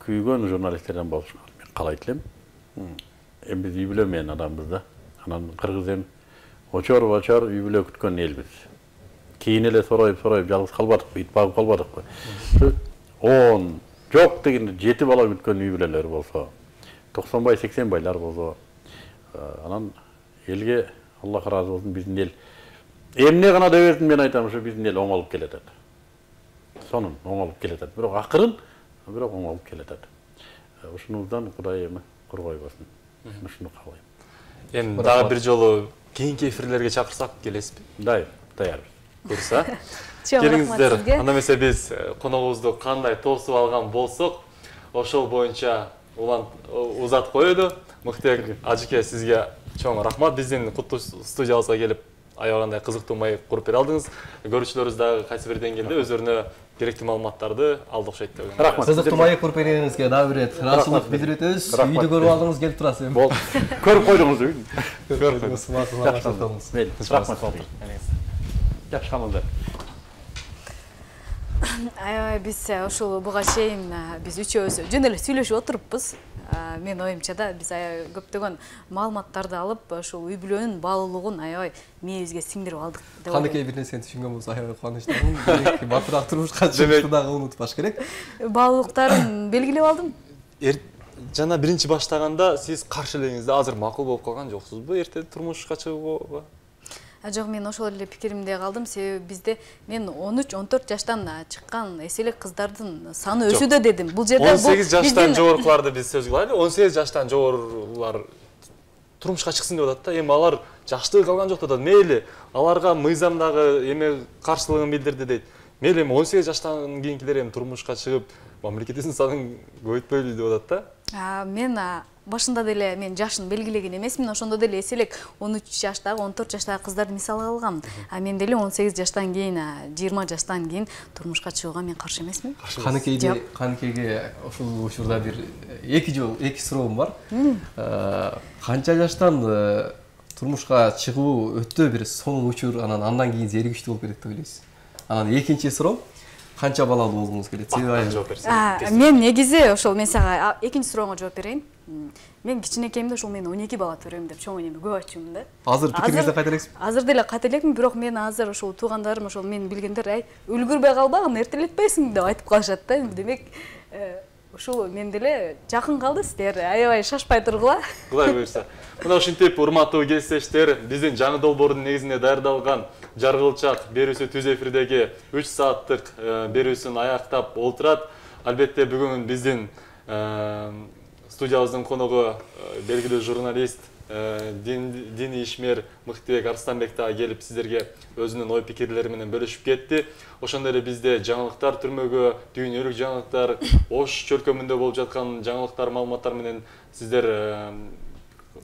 күйгөн журналисттерден болушуңар мен каалайт элем. Эми биз үй бүлө менен адамбыз да. Анан кыргыз эми очор-бочор үй бүлө күткөн элбиз. Кийин эле сороюп жалгыз калбадыкпы, ит багып калбадыкпы. 10 жок дегенде 7 бала күткөн үй бүлөлөр болсо, 90 бай, 80 байлар болсо, анан элге Аллах ыраазы болсун, биздин эл эмне гана дебесин, мен айтам, ушу биздин эл оңолуп келатат. Сонун оңолуп келатат. Бирок акырын, бирок оңолуп келатат. Ушунуздан Кудай эми коргойбосун. Ушуну каалайм. Эми дагы бир жолу кийинки эфирлерге чакырсак келесизби? Даярбыз. Буюрса. Келиңиздер. Анда эмесе биз коногубузду кандай тосуп алган болсок, ошол боюнча узат коелу. Мыктыбек ажыке, сизге чоң рахмат. Биздин куттуу студиябызга келип аябагандай кызыктуу маек куруп бере алдыңыз. Көрүүчүлөрүбүз дагы кайсы бир деңгээлде өздөрүнө керектүү маалыматтарды алды окшойт деп ойлойм. Рахмат. Кызыктуу маек куруп бергениңизге дагы бир рет ыраазычылык билдирип өтөбүз. Үйдү көрүп алдыңыз, келип турасыз. Болду. Көрүп койдуңуз үйдү. Көрдүңүз, рахмат. Жакшы калыңыздар. Аябай биз ушул буга чейин биз үчөөбүз жөн эле сүйлөшүп отуруппуз. Мен оюмча да биз аябай көптөгөн маалыматтарды алып ушул үй бүлөнүн баалуулугун аябай мээбизге сиңдирип алдык деп ойлойм. Кандайкы бир нерсени түшүнгөн болсо аябай кубанычтамын. Батыраак турмушка чыгышты дагы унутпаш керек. Баалуулуктарын белгилеп алдым. Жана биринчи баштаганда сиз каршы элеңиз да азыр макул болуп калган жоксузбу эрте турмушка чыгууга? Жок, мен ошол эле пикиримде калдым. Себеби бизде мен 13-14 жаштан чыккан эселик кыздардын саны өсүүдө дедим. Бул жерде 18 жаштан жогорукуларды биз сөз кылайлы. 18 жаштан жогорулар турмушка чыксын деп атат да. Эми алар жаштыгы калган жок деп атат. Мейли аларга мыйзамдагы эме каршылыгын билдирди дейт. Мейли эми 18 жаштан кийинкилер эми турмушка чыгып мамлекеттин санын көбөйтпөйлү деп атат да. Мен башында деле мен жашын белгилеген эмесмин. Ошондо деле эселек 13 жаштагы, 14 жаштагы кыздарды мисал алгам. Мен деле 18 жаштан кийин, 20 жаштан кийин турмушка чыгууга мен каршы эмесмин. Каныкейге ушул учурда бир эки суроом бар. Канча жаштан турмушка чыгуу өтө бир сонун учур, андан кийин зеригиштүү болуп кетет деп ойлойсуз? Анан экинчи суроом, канча балалуу болгуңуз келет? Мен негизи ошол мен сага экинчи сурооңо жооп берейин. Мен кичинекейимде ошол мен 12 бала төрөйм деп чоң энеме көп айтчумун да. Азыр пикириңизде кайта элексизби? Азыр деле кайта элекмин, бирок мен азыр ошол туугандарым, ошол мен билгендер, үлгүрбөй калбагын, эртелетпейсиң деп айтып калышат да. Демек, ушул мен деле жакын калды сиздер. Аябай шашпай тургула. Кудай буйрса. Мына ушинтип урматтуу кесиптештер, биздин жаңы долбоордун негизинде даярдалган Жаргылчак берүүсү түз эфирдеги 3 сааттык берүүсүн аяктап олтурат. Албетте бүгүн биздин студиябыздын коногу белгилүү журналист, диний ишмер Мыктыбек Арстанбек да келип сиздерге өзүнүн ой пикирлери менен бөлүшүп кетти. Ошондой эле бизде жаңылыктар түрмөгү, дүйнөлүк жаңылыктар, Ош чөлкөмүндө болуп жаткан жаңылыктар, маалыматтар менен сиздер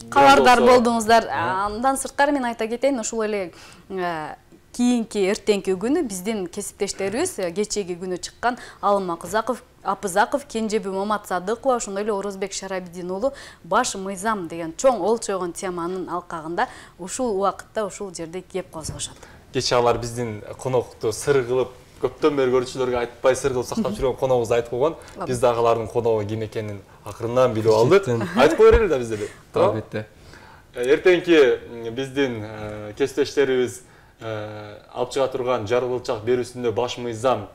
кабардар болдуңуздар. Андан сырткары мен айта кетейин, ушул эле кийинки эртеңки күнү биздин кесиптештерибиз кечеги күнү чыккан Алым Апызаков, Кенжеби Маматсадыкова, ошондой эле Орозбек Шарабидин уулу баш мыйзам деген чоң олчойгон теманын алкагында ушул убакытта ушул жерде кеп козгошот. Кече алар биздин конокту сыр кылып, көптөн бери көрүүчүлөргө айтпай сыр кылып сактап жүргөн коногубузду айтып койгон. Биз дагы алардын коногу ким экенин акырынан билип алдык. Айтып кое берели да биз деле. Албетте. Эртеңки биздин кесиптештерибиз алып чыга турган Жаргылчак берүүсүндө баш мыйзам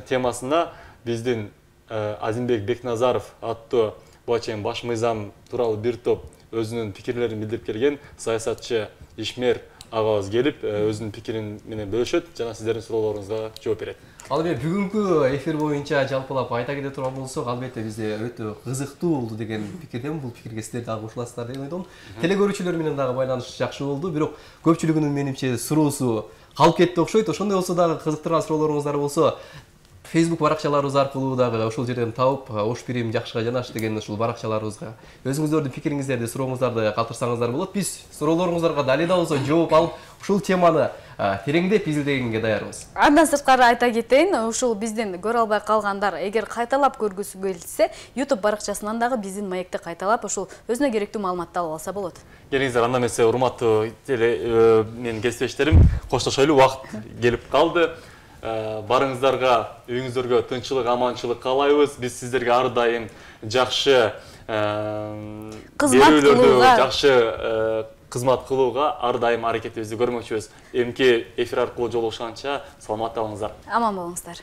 темасына биздин Азимбек Бекназаров аттуу буга чейин баш мыйзам тууралуу бир топ өзүнүн пикирлерин билдирип келген саясатчы ишмер агабыз келип өзүнүн пикирин менен бөлүшөт жана сиздердин суроолоруңузга жооп берет. Ал эми бүгүнкү эфир боюнча жалпылап айта кете турган болсок, албетте бизде өтө кызыктуу болду деген пикирдемин. Бул пикирге сиздер дагы кошуласыздар деп ойдом. Телекөрүүчүлөр менен дагы байланыш жакшы болду, бирок көпчүлүгүнүн менимче суроосу калып кетти окшойт. Ошондой болсо дагы кызыктырган суроолоруңуздар болсо, Facebook баракчаларыбыз аркылуу дагы ошол жерден тауып, Ош Пирим жакшыга жанаш деген ушул баракчаларыбызга өзүңүздөрдүн пикириңиздерди, сурооңуздарды калтырсаңыздар болот. Биз суроолоруңуздарга дали да болсо жооп алып, ушул теманы тереңдеп изилдегенге даярбыз. Андан сырткары айта кетейин, ушул биздин көрө албай калгандар эгер кайталап көргүсү келсе, YouTube баракчасынан дагы биздин маекти кайталап, ушул өзүнө керектүү маалыматты алып алса болот. Келиңиздер, анда эмесе урматтуу менин кесиптештерим, коштошойлу, убакыт келип калды. Барыңыздарга, үйүңүздөргө тынччылык, аманчылык каалайбыз. Биз сиздерге ар дайым жакшы кызмат кылууга, жакшы кызмат кылууга ар дайым аракетибизди көрмөкчүбүз. Эмки эфир аркылуу жолугушканча саламатта болуңуздар. Аман болуңуздар.